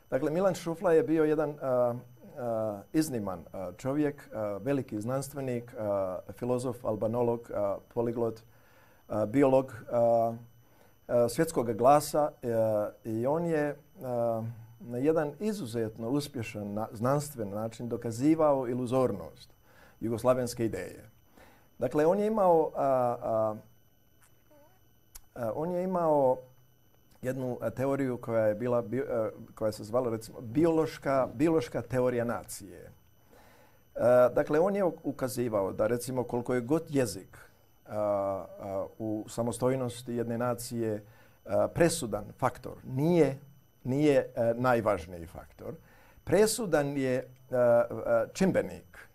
Dakle, Milan Šuflaj je bio jedan a, a, izniman a, čovjek, a, veliki znanstvenik, a, filozof, albanolog, a, poliglot, a, biolog, a, a, svjetskog glasa a, i on je a, na jedan izuzetno uspješan na, znanstven način dokazivao iluzornost jugoslavenske ideje. Dakle, on je imao, a, a, a, on je imao jednu a, teoriju koja je bila, bi, a, koja se zvala recimo biološka, biološka teorija nacije. A, dakle, on je ukazivao da recimo koliko je god jezik a, a, u samostojnosti jedne nacije a, presudan faktor, nije, nije a, najvažniji faktor. Presudan je a, a, čimbenik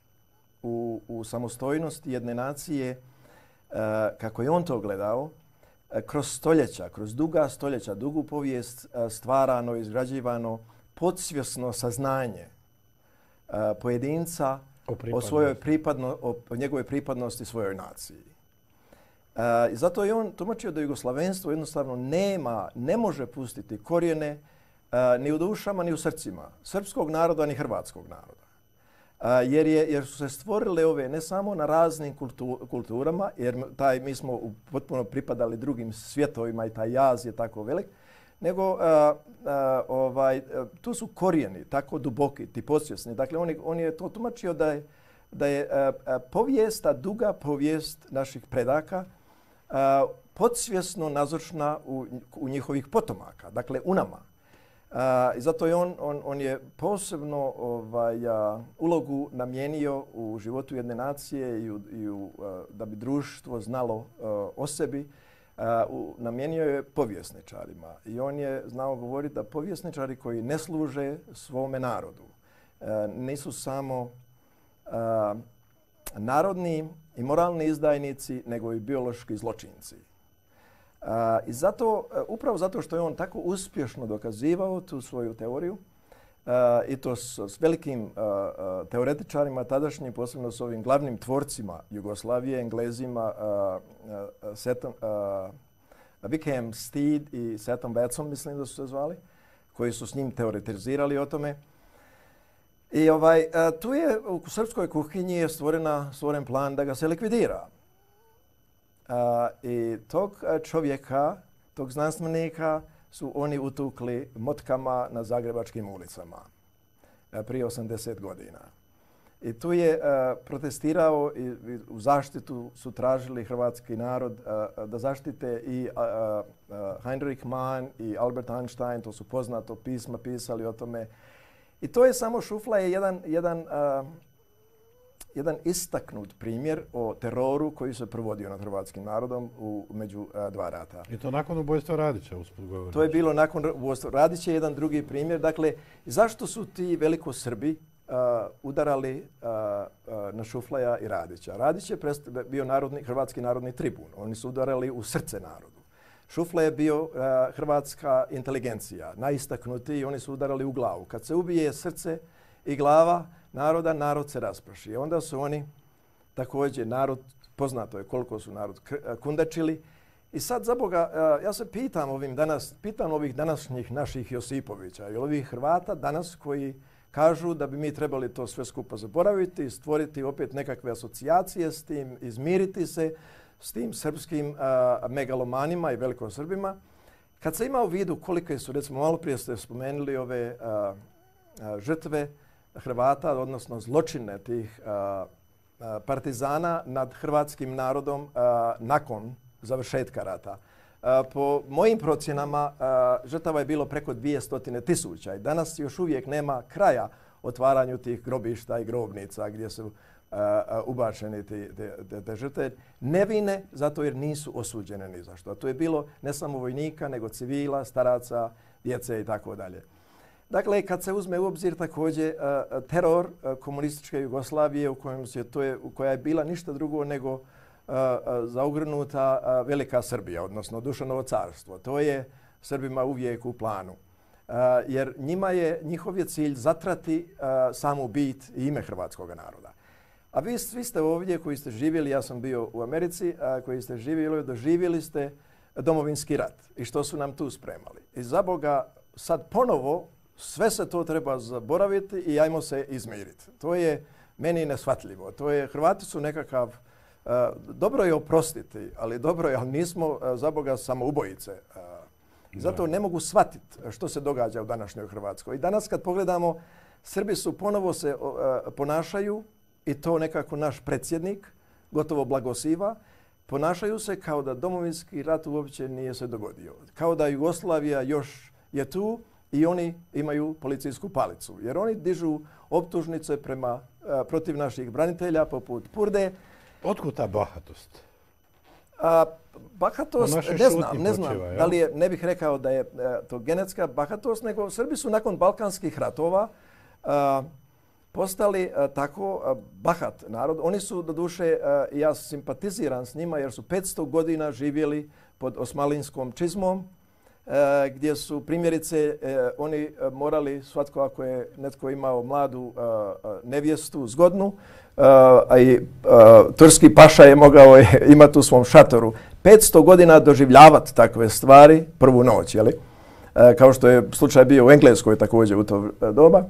U, u samostojnosti jedne nacije, uh, kako je on to gledao, uh, kroz stoljeća, kroz duga stoljeća, dugu povijest uh, stvarano, izgrađivano podsvjesno saznanje uh, pojedinca o, o, svojoj pripadno, o, o njegove pripadnosti svojoj naciji. Uh, I zato je on tumačio da jugoslavenstvo jednostavno nema, ne može pustiti korijene uh, ni u dušama, ni u srcima srpskog naroda, ni hrvatskog naroda. Uh, jer, je, jer su se stvorile ove ne samo na raznim kultu, kulturama, jer taj, mi smo potpuno pripadali drugim svjetovima i taj jaz je tako velik, nego uh, uh, ovaj, uh, tu su korijeni tako duboki, ti podsvjesni. Dakle, on je, on je to tumačio da je, da je uh, uh, povijest, ta duga povijest naših predaka uh, podsvjesno nazočna u, u njihovih potomaka, dakle u nama. Uh, I zato je on, on, on je posebno ovaj, uh, ulogu namijenio u životu jedne nacije i, u, i u, uh, da bi društvo znalo uh, o sebi, uh, u, namijenio je povjesničarima. I on je znao govoriti da povjesničari koji ne služe svome narodu uh, nisu samo uh, narodni i moralni izdajnici, nego i biološki zločinci. Uh, I zato, uh, upravo zato što je on tako uspješno dokazivao tu svoju teoriju, uh, i to s, s velikim uh, uh, teoretičarima tadašnjim, posebno s ovim glavnim tvorcima Jugoslavije, Englezima, uh, uh, Setom, uh, Wickham Steed i Setom Batson, mislim da su se zvali, koji su s njim teoretizirali o tome. I ovaj, uh, tu je u srpskoj kuhinji je stvorena, stvoren plan da ga se likvidira. Uh, I tog čovjeka, tog znanstvenika su oni utukli motkama na zagrebačkim ulicama uh, prije osamdeset godina. I tu je uh, protestirao i, i u zaštitu su tražili hrvatski narod uh, da zaštite i uh, uh, Heinrich Mann i Albert Einstein, to su poznato pisma pisali o tome. I to je samo Šuflaj jedan, jedan uh, jedan istaknut primjer o teroru koji se provodio nad hrvatskim narodom u, među a, dva rata. I to nakon ubojstva Radića, usput govorim. To je bilo nakon ubojstva Radića, jedan drugi primjer. Dakle, zašto su ti velikosrbi a, udarali a, a, na Šuflaja i Radića? Radić je bio narodni, hrvatski narodni tribun. Oni su udarali u srce narodu. Šufle je bio uh, hrvatska inteligencija, najistaknutiji, oni su udarali u glavu. Kad se ubije srce i glava naroda, narod se raspraši. I onda su oni također narod, poznato je koliko su narod kundačili. I sad za Boga, uh, ja se pitam ovim danas, pitam ovih današnjih naših Josipovića i ovih Hrvata danas koji kažu da bi mi trebali to sve skupa zaboraviti, stvoriti opet nekakve asocijacije s tim, izmiriti se s tim srpskim a, megalomanima i velikosrbima. Kad se ima u vidu kolike su, recimo malo prije ste spomenuli ove a, a, žrtve Hrvata, odnosno zločine tih a, a, partizana nad hrvatskim narodom a, nakon završetka rata. A, po mojim procjenama a, žrtava je bilo preko dvjesto tisuća i danas još uvijek nema kraja otvaranju tih grobišta i grobnica gdje su Uh, ubačeni te, te, te žrtve, nevine zato jer nisu osuđene ni za što. A to je bilo ne samo vojnika, nego civila, staraca, djece i tako dalje. Dakle, kad se uzme u obzir također uh, teror uh, komunističke Jugoslavije u, kojem se, to je, u koja je bila ništa drugo nego uh, uh, zaogrnuta uh, Velika Srbija, odnosno Dušanovo carstvo. To je Srbima uvijek u planu. Uh, jer njima je, njihov je cilj zatrati uh, samu bit i ime hrvatskog naroda. A vi svi ste ovdje koji ste živjeli, ja sam bio u Americi, a koji ste živjeli, doživjeli ste domovinski rat i što su nam tu spremali. I za Boga sad ponovo sve se to treba zaboraviti i ajmo se izmiriti. To je meni neshvatljivo. To je, Hrvati su nekakav, uh, dobro je oprostiti, ali dobro je, ali nismo uh, za Boga samoubojice. Uh, zato ne mogu shvatiti što se događa u današnjoj Hrvatskoj. I danas kad pogledamo, Srbi su ponovo se uh, ponašaju i to nekako naš predsjednik gotovo blagosiva, ponašaju se kao da domovinski rat uopće nije se dogodio. Kao da Jugoslavija još je tu i oni imaju policijsku palicu. Jer oni dižu optužnice prema, a, protiv naših branitelja poput Purde. Otkud ta bahatost? A, bahatost, ne znam, ne znam počeva, da li je, ne bih rekao da je a, to genetska bahatost, nego Srbi su nakon balkanskih ratova a, postali uh, tako uh, bahat narod. Oni su, doduše, uh, ja simpatiziram s njima jer su petsto godina živjeli pod osmalinskom čizmom, uh, gdje su primjerice uh, oni uh, morali, svatko ako je netko imao mladu uh, uh, nevjestu, zgodnu, uh, a i uh, turski paša je mogao je imati u svom šatoru, petsto godina doživljavati takve stvari prvu noć, jeli? Uh, kao što je slučaj bio u Engleskoj također u to uh, doba.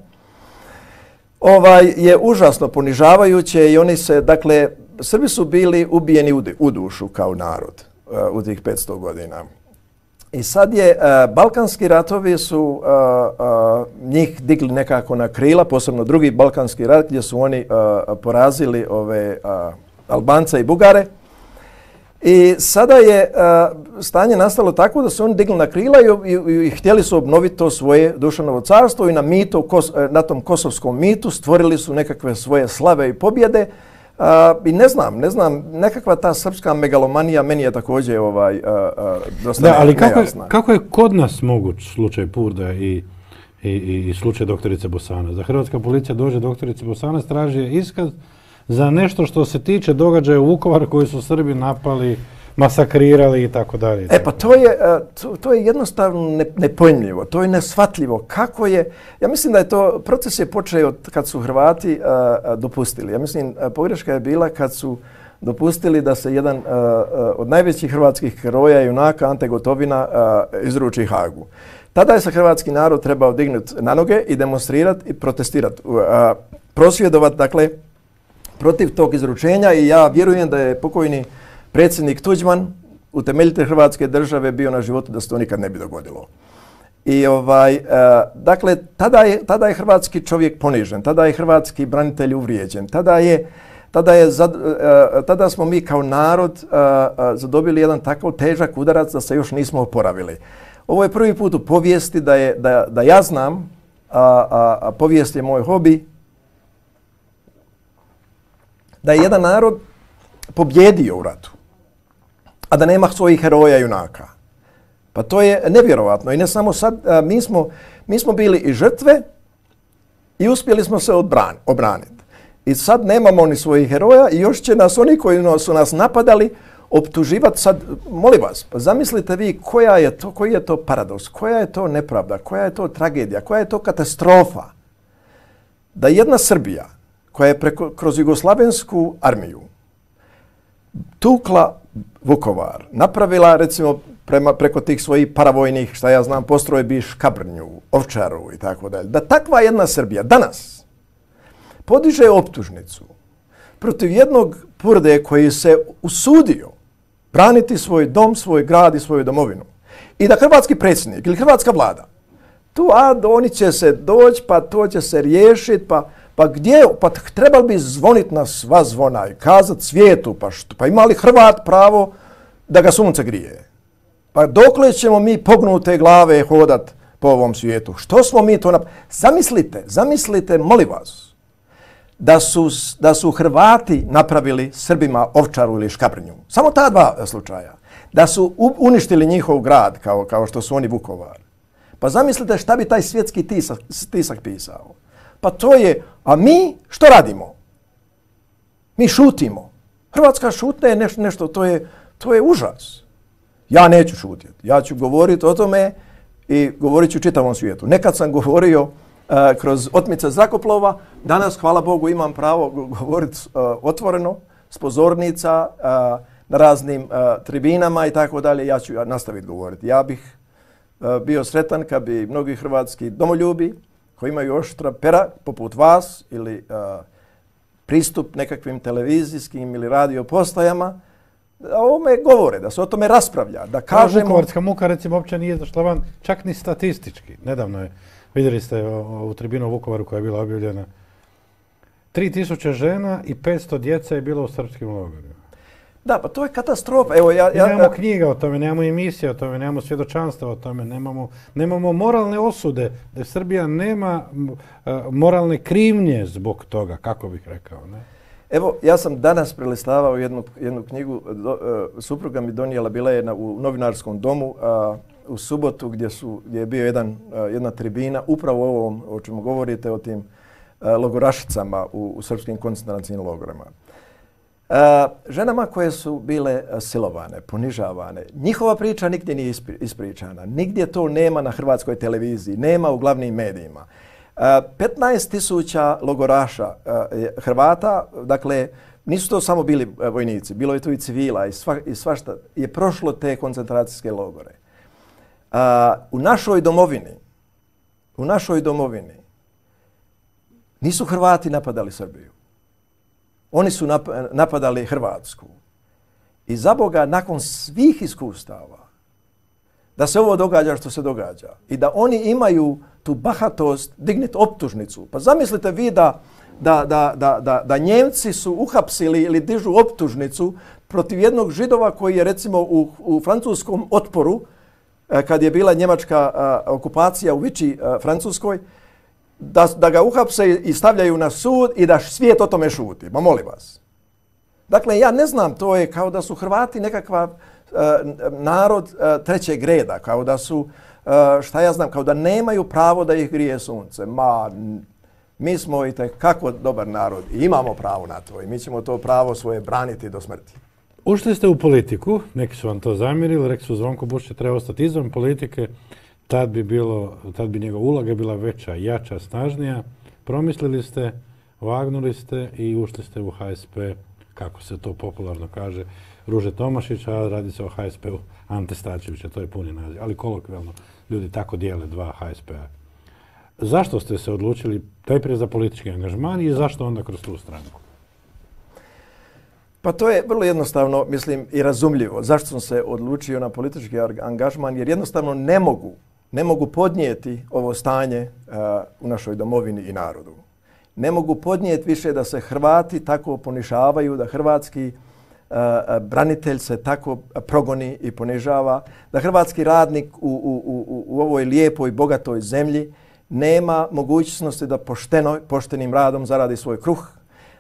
Ovaj je užasno ponižavajuće i oni se, dakle, Srbi su bili ubijeni u, u dušu kao narod uh, u tih petsto godina. I sad je, uh, balkanski ratovi su uh, uh, njih digli nekako na krila, posebno drugi balkanski rat gdje su oni uh, porazili ove uh, Albance i Bugare. I sada je uh, stanje nastalo tako da su oni digli na krila i, i, i htjeli su obnoviti to svoje Dušanovo carstvo i na, mitu, kos, na tom kosovskom mitu stvorili su nekakve svoje slave i pobjede. Uh, I ne znam, ne znam, nekakva ta srpska megalomanija meni je također ovaj, uh, uh, dosta da, ali kako nejasna. Je, kako je kod nas moguć slučaj Purda i, i, i slučaj doktorice Bosanac? Da hrvatska policija dođe doktorice Bosanac, traži iskaz za nešto što se tiče događaja u Vukovaru koji su Srbi napali, masakrirali i tako dalje. E pa to je, to, to je jednostavno ne, nepojmljivo, to je neshvatljivo. Kako je, ja mislim da je to, proces je počeo kad su Hrvati a, a, dopustili. Ja mislim, a, pogreška je bila kad su dopustili da se jedan a, a, od najvećih hrvatskih heroja i junaka Ante Gotovina a, izruči Hagu. Tada je se hrvatski narod trebao dignuti na noge i demonstrirati i protestirati, a, prosvjedovati, dakle, protiv tog izručenja i ja vjerujem da je pokojni predsjednik Tuđman, utemeljitelj Hrvatske države, bio na životu da se to nikad ne bi dogodilo. I ovaj, uh, dakle, tada je, tada je hrvatski čovjek ponižen, tada je hrvatski branitelj uvrijeđen, tada je, tada je, zad, uh, tada smo mi kao narod uh, uh, zadobili jedan takav težak udarac da se još nismo oporavili. Ovo je prvi put u povijesti da, je, da, da ja znam, a, a, a povijest je moj hobi, da je jedan narod pobjedio u ratu, a da nema svojih heroja i junaka. Pa to je nevjerovatno. I ne samo sad, a, mi, smo, mi smo bili i žrtve i uspjeli smo se odbran, obraniti. I sad nemamo ni svojih heroja i još će nas oni koji su nas napadali optuživati sad, molim vas, pa zamislite vi koja je to, koji je to paradoks, koja je to nepravda, koja je to tragedija, koja je to katastrofa da jedna Srbija koja je preko, kroz jugoslavensku armiju tukla Vukovar, napravila recimo prema, preko tih svojih paravojnih, šta ja znam, postrojbi Škabrnju, Ovčaru i tako dalje, da takva jedna Srbija danas podiže optužnicu protiv jednog Purde koji se usudio braniti svoj dom, svoj grad i svoju domovinu. I da hrvatski predsjednik ili hrvatska vlada, tu a oni će se doći, pa to će se riješiti, pa, pa gdje, pa trebali bi zvoniti na sva zvona i kazati svijetu, pa, što, pa ima li Hrvat pravo da ga sunce grije? Pa dokle ćemo mi pognute glave hodat po ovom svijetu? Što smo mi to napravili? Zamislite, zamislite, molim vas, da su, da su Hrvati napravili Srbima Ovčaru ili Škabrnju. Samo ta dva slučaja. Da su uništili njihov grad kao, kao što su oni Vukovar. Pa zamislite šta bi taj svjetski tisak, tisak pisao. Pa to je, a mi što radimo? Mi šutimo. Hrvatska šutnja je nešto, nešto to, je, to je užas. Ja neću šutjeti. Ja ću govoriti o tome i govorit ću čitavom svijetu. Nekad sam govorio uh, kroz otmice zrakoplova, danas, hvala Bogu, imam pravo govoriti uh, otvoreno, s pozornica, uh, na raznim uh, tribinama i tako dalje. Ja ću nastaviti govoriti. Ja bih uh, bio sretan kad bi mnogi hrvatski domoljubi koji imaju oštra pera, poput vas, ili uh, pristup nekakvim televizijskim ili radio postajama, da o tome govore, da se o tome raspravlja, da kažemo... Vukovarska muka, recimo, uopće nije izašla van, čak ni statistički. Nedavno je, vidjeli ste ovu tribinu u Vukovaru koja je bila objavljena, tri tisuće žena i petsto djece je bilo u srpskim logorima. Da, pa to je katastrofa. Evo, ja, ja, nemamo knjiga o tome, nemamo emisije o tome, nemamo svjedočanstva o tome, nemamo, nemamo moralne osude, da Srbija nema uh, moralne krivnje zbog toga, kako bih rekao, ne? Evo, ja sam danas prelistavao jednu, jednu knjigu, do, uh, supruga mi donijela, bila je na, u novinarskom domu uh, u subotu gdje, su, gdje je bio jedan, uh, jedna tribina, upravo o ovom o čemu govorite, o tim uh, logorašicama u, u srpskim koncentracijnim logorima. Uh, ženama koje su bile uh, silovane, ponižavane, njihova priča nigdje nije ispri, ispričana, nigdje to nema na hrvatskoj televiziji, nema u glavnim medijima. Uh, petnaest tisuća logoraša uh, Hrvata, dakle, nisu to samo bili uh, vojnici, bilo je tu i civila i, sva, i svašta, je prošlo te koncentracijske logore. Uh, u našoj domovini, u našoj domovini nisu Hrvati napadali Srbiju. Oni su nap napadali Hrvatsku. I za Boga, nakon svih iskustava, da se ovo događa što se događa i da oni imaju tu bahatost digniti optužnicu. Pa zamislite vi da, da, da, da, da, da Njemci su uhapsili ili dižu optužnicu protiv jednog Židova koji je recimo u, u francuskom otporu, kad je bila njemačka a, okupacija u Viči a, Francuskoj, da, da ga uhapse i stavljaju na sud i da svijet o tome šuti. Ma molim vas. Dakle, ja ne znam, to je kao da su Hrvati nekakva uh, narod uh, trećeg reda, kao da su, uh, šta ja znam, kao da nemaju pravo da ih grije sunce. Ma, mi smo i tekako dobar narod i imamo pravo na to i mi ćemo to pravo svoje braniti do smrti. Ušli ste u politiku, neki su vam to zamjerili, rekli su Zvonko Bušić treba ostati izvan politike, tad bi, bilo, tad bi njegova uloga bila veća, jača, snažnija. Promislili ste, vagnuli ste i ušli ste u H S P, kako se to popularno kaže, Ruže Tomašića, a radi se o H S P-u Ante Starčevića, to je puni naziv, ali kolokvijalno ljudi tako dijele dva H S P-a. Zašto ste se odlučili najprije za politički angažman i zašto onda kroz tu stranku? Pa to je vrlo jednostavno, mislim, i razumljivo. Zašto sam se odlučio na politički angažman? Jer jednostavno ne mogu, ne mogu podnijeti ovo stanje uh, u našoj domovini i narodu. Ne mogu podnijeti više da se Hrvati tako ponižavaju, da hrvatski uh, branitelj se tako progoni i ponižava, da hrvatski radnik u, u, u, u ovoj lijepoj, bogatoj zemlji nema mogućnosti da pošteno, poštenim radom zaradi svoj kruh,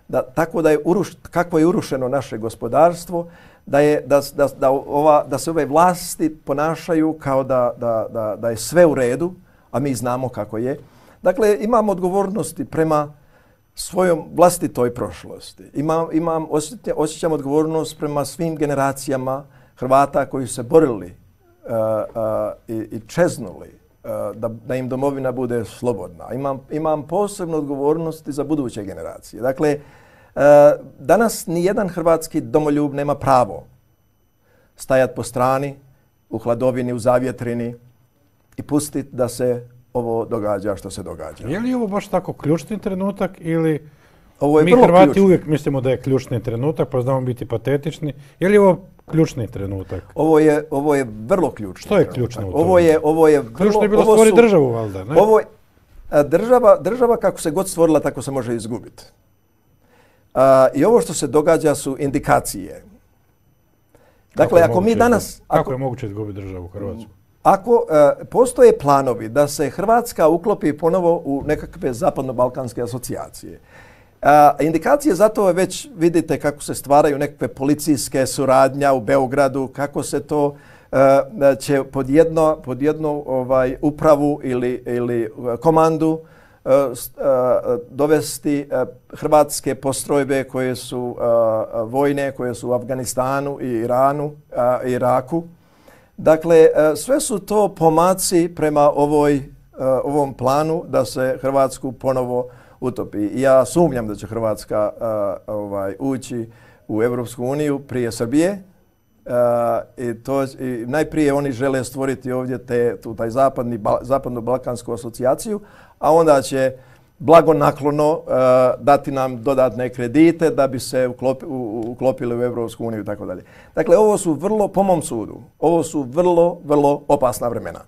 da, tako da je uruš, kako je urušeno naše gospodarstvo, da, je, da, da, da, ova, da se ove vlasti ponašaju kao da, da, da, da je sve u redu, a mi znamo kako je. Dakle, imamo odgovornosti prema svojom vlastitoj prošlosti. Imam, imam osjećam, osjećam odgovornost prema svim generacijama Hrvata koji su se borili uh, uh, i, i čeznuli uh, da, da im domovina bude slobodna. Imam, imam posebnu odgovornost za buduće generacije. Dakle, uh, danas nijedan hrvatski domoljub nema pravo stajati po strani, u hladovini, u zavjetrini i pustiti da se ovo događa što se događa. Je li ovo baš tako ključni trenutak ili ovo je mi vrlo Hrvati ključno. uvijek mislimo da je ključni trenutak, pa znamo biti patetični. Je li ovo ključni trenutak? Ovo je, ovo je vrlo ključno. Što je ključno u tome? Ovo je, ovo je vrlo, Ključno je bilo ovo stvoriti su- državu, valjda, ne? Ovo je, a, država, država kako se god stvorila, tako se može izgubiti. A, I ovo što se događa su indikacije. Kako Dakle, je ako mi moguće danas... izgubiti- Kako Ako, je moguće izgubiti državu u Hrvatsku? ako e, postoje planovi da se Hrvatska uklopi ponovo u nekakve zapadno-balkanske asocijacije, a, indikacije za to je već vidite kako se stvaraju nekakve policijske suradnja u Beogradu, kako se to e, će pod jedno, pod jednu ovaj, upravu ili, ili komandu e, s- e, dovesti e, hrvatske postrojbe koje su e, vojne, koje su u Afganistanu i Iranu, e, Iraku. Dakle, e, sve su to pomaci prema ovoj, e, ovom planu da se Hrvatsku ponovo utopi. I ja sumnjam da će Hrvatska e, ovaj, ući u Europsku uniju prije Srbije. E, i to, i najprije oni žele stvoriti ovdje te, tu, taj zapadni, ba, zapadno-balkansku asocijaciju, a onda će blagonaklono uh, dati nam dodatne kredite da bi se uklopi, u, uklopili u Europsku uniju i tako dalje. Dakle, ovo su vrlo, po mom sudu, ovo su vrlo, vrlo opasna vremena.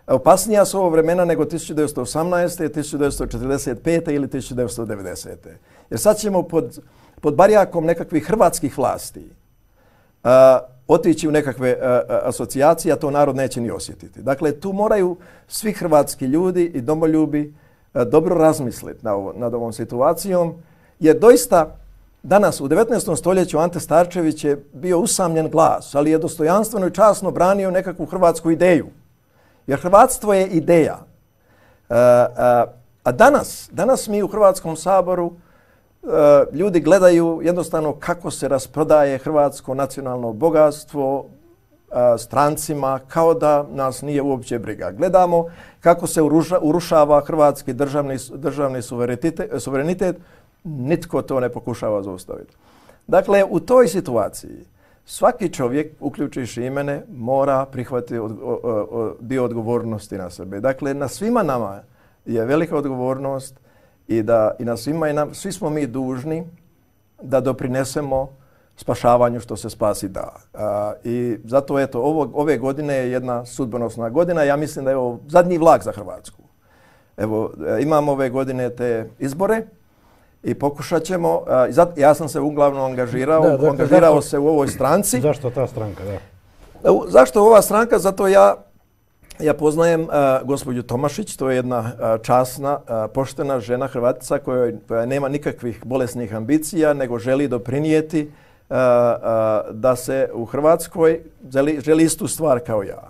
Opasnija su ovo vremena nego tisuću devetsto osamnaeste, tisuću devetsto četrdeset pete ili tisuću devetsto devedesete. Jer sad ćemo pod, pod barjakom nekakvih hrvatskih vlasti uh, otići u nekakve uh, asocijacije, a to narod neće ni osjetiti. Dakle, tu moraju svi hrvatski ljudi i domoljubi dobro razmisliti nad, ovo, nad ovom situacijom, jer doista danas u devetnaestom stoljeću Ante Starčević je bio usamljen glas, ali je dostojanstveno i časno branio nekakvu hrvatsku ideju. Jer hrvatstvo je ideja. E, a, a danas, danas mi u Hrvatskom saboru e, ljudi gledaju jednostavno kako se rasprodaje hrvatsko nacionalno bogatstvo strancima, kao da nas nije uopće briga. Gledamo kako se uruša, urušava hrvatski državni, državni suverenitet, suverenitet, nitko to ne pokušava zaustaviti. Dakle, u toj situaciji svaki čovjek, uključujući i mene, mora prihvatiti od, o, o, dio odgovornosti na sebe. Dakle, na svima nama je velika odgovornost i da i na svima i nam, svi smo mi dužni da doprinesemo spašavanju što se spasi da. A, I zato eto, ovo, ove godine je jedna sudbonosna godina. Ja mislim da je ovo zadnji vlak za Hrvatsku. Evo, imamo ove godine te izbore i pokušat ćemo, a, zat, ja sam se uglavnom angažirao, Da, dakle, angažirao zašto, se u ovoj stranci. Zašto ta stranka, da? Zašto ova stranka? Zato ja, ja poznajem a, gospođu Tomašić, to je jedna a, časna, a, poštena žena Hrvatica koja, koja nema nikakvih bolesnih ambicija, nego želi doprinijeti Uh, uh, da se u Hrvatskoj želi, želi istu stvar kao ja.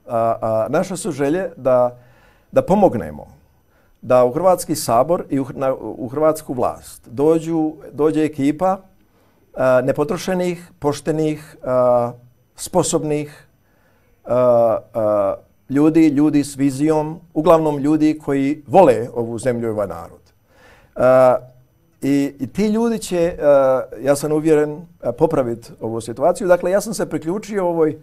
Uh, uh, naše su želje da, da pomognemo, da u Hrvatski sabor i u, na, u hrvatsku vlast dođu, dođe ekipa uh, nepotrošenih, poštenih, uh, sposobnih uh, uh, ljudi, ljudi s vizijom, uglavnom ljudi koji vole ovu zemlju i ovaj narod. Uh, I, I ti ljudi će, uh, ja sam uvjeren, uh, popraviti ovu situaciju. Dakle, ja sam se priključio ovoj,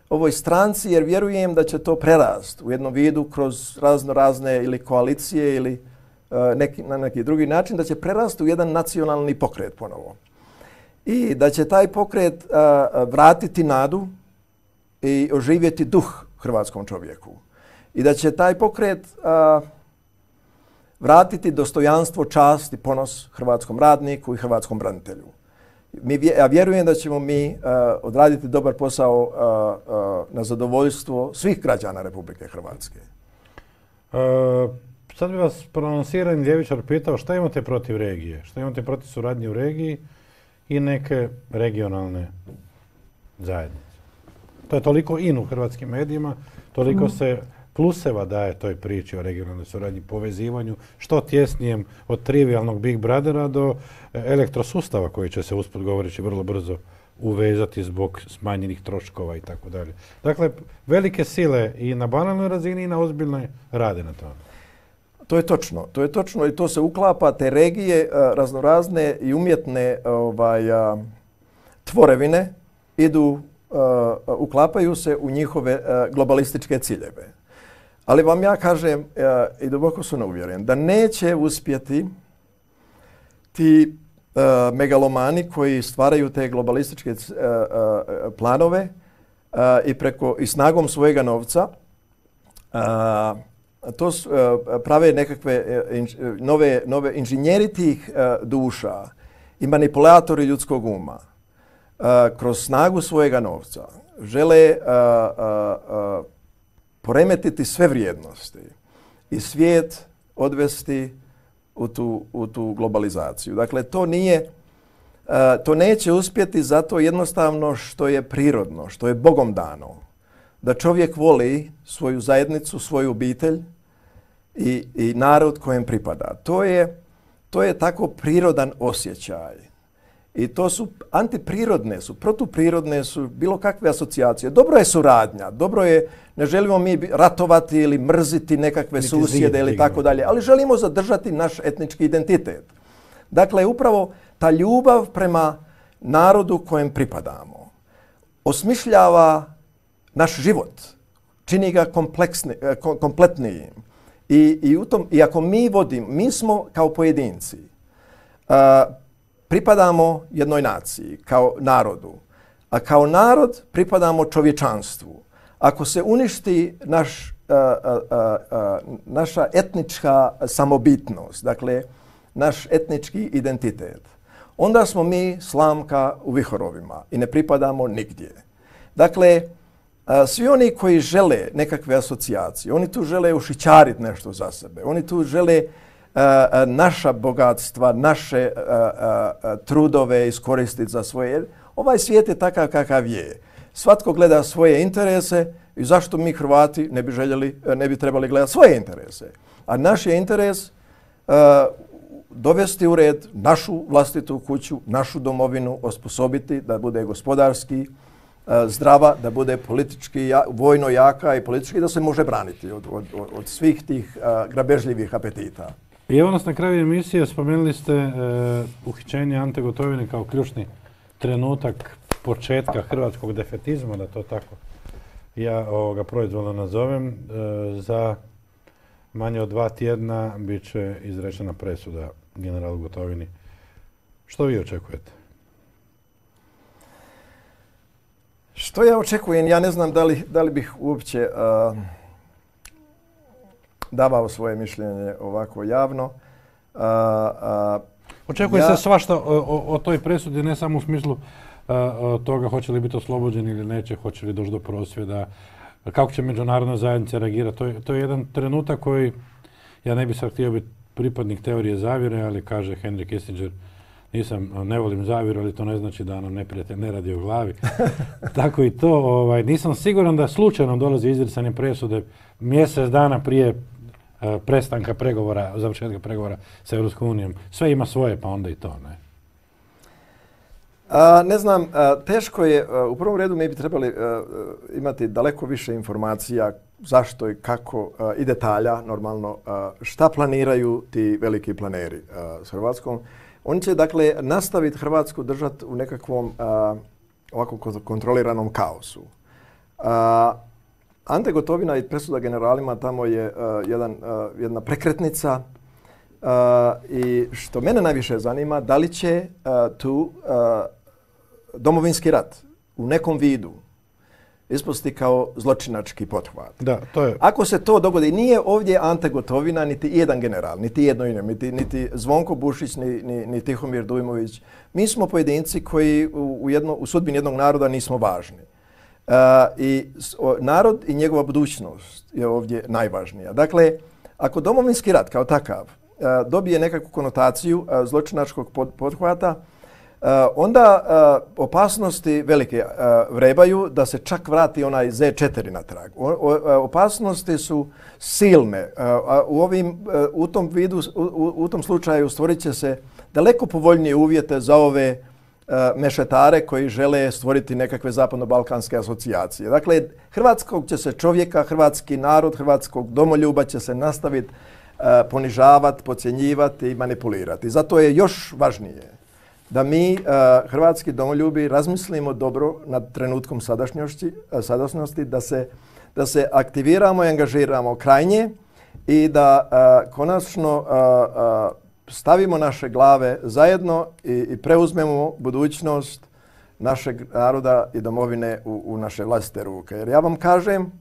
ovoj stranci jer vjerujem da će to prerast u jednom vidu kroz razno razne ili koalicije ili uh, neki, na neki drugi način, da će prerasti u jedan nacionalni pokret ponovo. I da će taj pokret uh, vratiti nadu i oživjeti duh hrvatskom čovjeku. I da će taj pokret uh, vratiti dostojanstvo, čast i ponos hrvatskom radniku i hrvatskom branitelju. Mi, ja vjerujem da ćemo mi uh, odraditi dobar posao uh, uh, na zadovoljstvo svih građana Republike Hrvatske. Uh, sad bi vas prononsirani ljevičar pitao šta imate protiv regije, šta imate protiv suradnje u regiji i neke regionalne zajednice. To je toliko in u hrvatskim medijima, toliko mm. se pluseva daje toj priči o regionalnoj suradnji, povezivanju, što tjesnijem od trivialnog Big Brothera do elektrosustava koji će se usput govoreći vrlo brzo uvezati zbog smanjenih troškova i tako dalje. Dakle, velike sile i na banalnoj razini i na ozbiljnoj rade na tome. To je točno, to je točno i to se uklapa, te regije raznorazne i umjetne ovaj, tvorevine idu, uklapaju se u njihove globalističke ciljeve. Ali vam ja kažem i duboko sam uvjeren da neće uspjeti ti megalomani koji stvaraju te globalističke planove i preko i snagom svojega novca to prave nekakve nove, nove inženjeri tih duša i manipulatori ljudskog uma kroz snagu svojega novca žele poremetiti sve vrijednosti i svijet odvesti u tu, u tu globalizaciju. Dakle, to nije, to neće uspjeti zato jednostavno što je prirodno, što je Bogom dano. Da čovjek voli svoju zajednicu, svoju obitelj i, i narod kojem pripada. To je, to je tako prirodan osjećaj. I to su antiprirodne, su protuprirodne, su bilo kakve asocijacije. Dobro je suradnja, dobro je, ne želimo mi ratovati ili mrziti nekakve susjede ili tako dalje, ali želimo zadržati naš etnički identitet. Dakle, upravo ta ljubav prema narodu kojem pripadamo osmišljava naš život, čini ga kompletnijim. I, i, u tom, i ako mi vodimo, mi smo kao pojedinci, uh, pripadamo jednoj naciji, kao narodu, a kao narod pripadamo čovječanstvu. Ako se uništi naš, uh, uh, uh, naša etnička samobitnost, dakle, naš etnički identitet, onda smo mi slamka u vihorovima i ne pripadamo nigdje. Dakle, uh, svi oni koji žele nekakve asocijacije, oni tu žele ušićariti nešto za sebe, oni tu žele Uh, naša bogatstva, naše uh, uh, trudove iskoristiti za svoje. Jer ovaj svijet je takav kakav je. Svatko gleda svoje interese i zašto mi Hrvati ne bi željeli, ne bi trebali gledati svoje interese. A naš je interes uh, dovesti u red našu vlastitu kuću, našu domovinu, osposobiti da bude gospodarski uh, zdrava, da bude politički, ja, vojno jaka i politički da se može braniti od, od, od svih tih uh, grabežljivih apetita. I evo nas na kraju emisije, spomenuli ste e, uhićenje Ante Gotovine kao ključni trenutak početka hrvatskog defetizma, da to tako ja ovoga proizvoljno nazovem. E, za manje od dva tjedna bit će izrečena presuda generalu Gotovini. Što vi očekujete? Što ja očekujem? Ja ne znam da li, da li bih uopće Uh... davao svoje mišljenje ovako javno. A, a, Očekuje ja, se svašta o, o, o toj presudi, ne samo u smislu a, toga hoće li biti oslobođeni ili neće, hoće li doći do prosvjeda, kako će međunarodna zajednica reagirati. To je, to je jedan trenutak koji, ja ne bih sad htio biti pripadnik teorije zavjere, ali kaže Henry Kissinger, nisam, ne volim zavjeru, ali to ne znači da nam neprijatelj ne radi o glavi. Tako i to, ovaj, nisam siguran da slučajno dolazi izricanje presude mjesec dana prije uh, prestanka pregovora, završetka pregovora sa Europskom unijom. Sve ima svoje, pa onda i to, ne? A, ne znam, a, teško je, a, u prvom redu mi bi trebali a, imati daleko više informacija zašto i kako a, i detalja, normalno, a, šta planiraju ti veliki planeri a, s Hrvatskom. Oni će, dakle, nastaviti Hrvatsku držati u nekakvom a, ovako kontroliranom kaosu. A, Ante Gotovina i presuda generalima tamo je uh, jedan, uh, jedna prekretnica uh, i što mene najviše zanima, da li će uh, tu uh, domovinski rat u nekom vidu ispasti kao zločinački pothvat. Da, to je. Ako se to dogodi, nije ovdje Ante Gotovina niti jedan general, niti jedno ime, niti, niti Zvonko Bušić, ni, ni, ni Tihomir Dujmović. Mi smo pojedinci koji u, u, jedno, u sudbini jednog naroda nismo važni. Uh, i o, narod i njegova budućnost je ovdje najvažnija. Dakle, ako domovinski rat kao takav uh, dobije nekakvu konotaciju uh, zločinačkog pod, pothvata, onda uh, opasnosti velike uh, vrebaju da se čak vrati onaj Z četiri natrag. O, o, opasnosti su silne. Uh, u, ovim, uh, u, tom vidu, u, u tom slučaju stvorit će se daleko povoljnije uvjete za ove uh, mešetare koji žele stvoriti nekakve zapadno-balkanske asocijacije. Dakle, hrvatskog će se čovjeka, hrvatski narod, hrvatskog domoljuba će se nastaviti uh, ponižavati, podcjenjivati i manipulirati. Zato je još važnije da mi, uh, hrvatski domoljubi, razmislimo dobro nad trenutkom sadašnjosti, uh, sadašnjosti da, se, da se aktiviramo i angažiramo krajnje i da uh, konačno uh, uh, stavimo naše glave zajedno i, i preuzmemo budućnost našeg naroda i domovine u, u naše vlastite ruke. Jer ja vam kažem,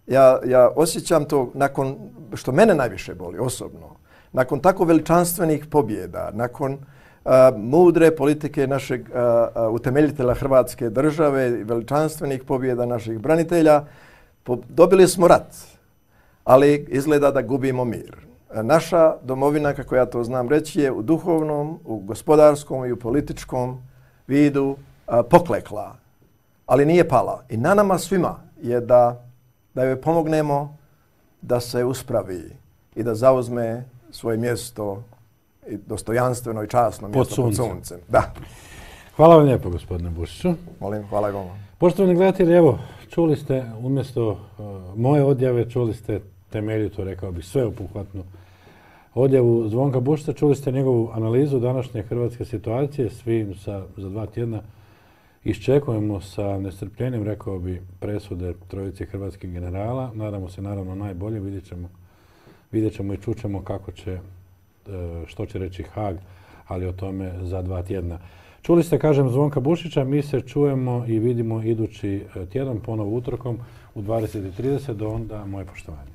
ja, ja osjećam to nakon, što mene najviše boli osobno, nakon tako veličanstvenih pobjeda, nakon Uh, mudre politike našeg uh, uh, utemeljitelja Hrvatske države, veličanstvenih pobjeda naših branitelja, po, dobili smo rat, ali izgleda da gubimo mir. Uh, naša domovina, kako ja to znam reći, je u duhovnom, u gospodarskom i u političkom vidu uh, poklekla, ali nije pala. I na nama svima je da, da joj pomognemo da se uspravi i da zauzme svoje mjesto i dostojanstveno i časno mjesto pod suncem. Da. Hvala vam lijepo, gospodine Bušiću. Molim, hvala i vama. Poštovani gledatelji, evo, čuli ste umjesto uh, moje odjave, čuli ste temeljitu, rekao bih, sveobuhvatnu odjavu Zvonka Bušića, čuli ste njegovu analizu današnje hrvatske situacije. Svi sa, za dva tjedna iščekujemo sa nestrpljenjem, rekao bih, presude trojice hrvatskih generala. Nadamo se naravno najbolje, vidjet ćemo, vidjet ćemo i čućemo kako će, što će reći Haag, ali o tome za dva tjedna. Čuli ste, kažem, Zvonka Bušića, mi se čujemo i vidimo idući tjedan, ponovo utorkom u dvadeset i trideset, do onda moje poštovanje.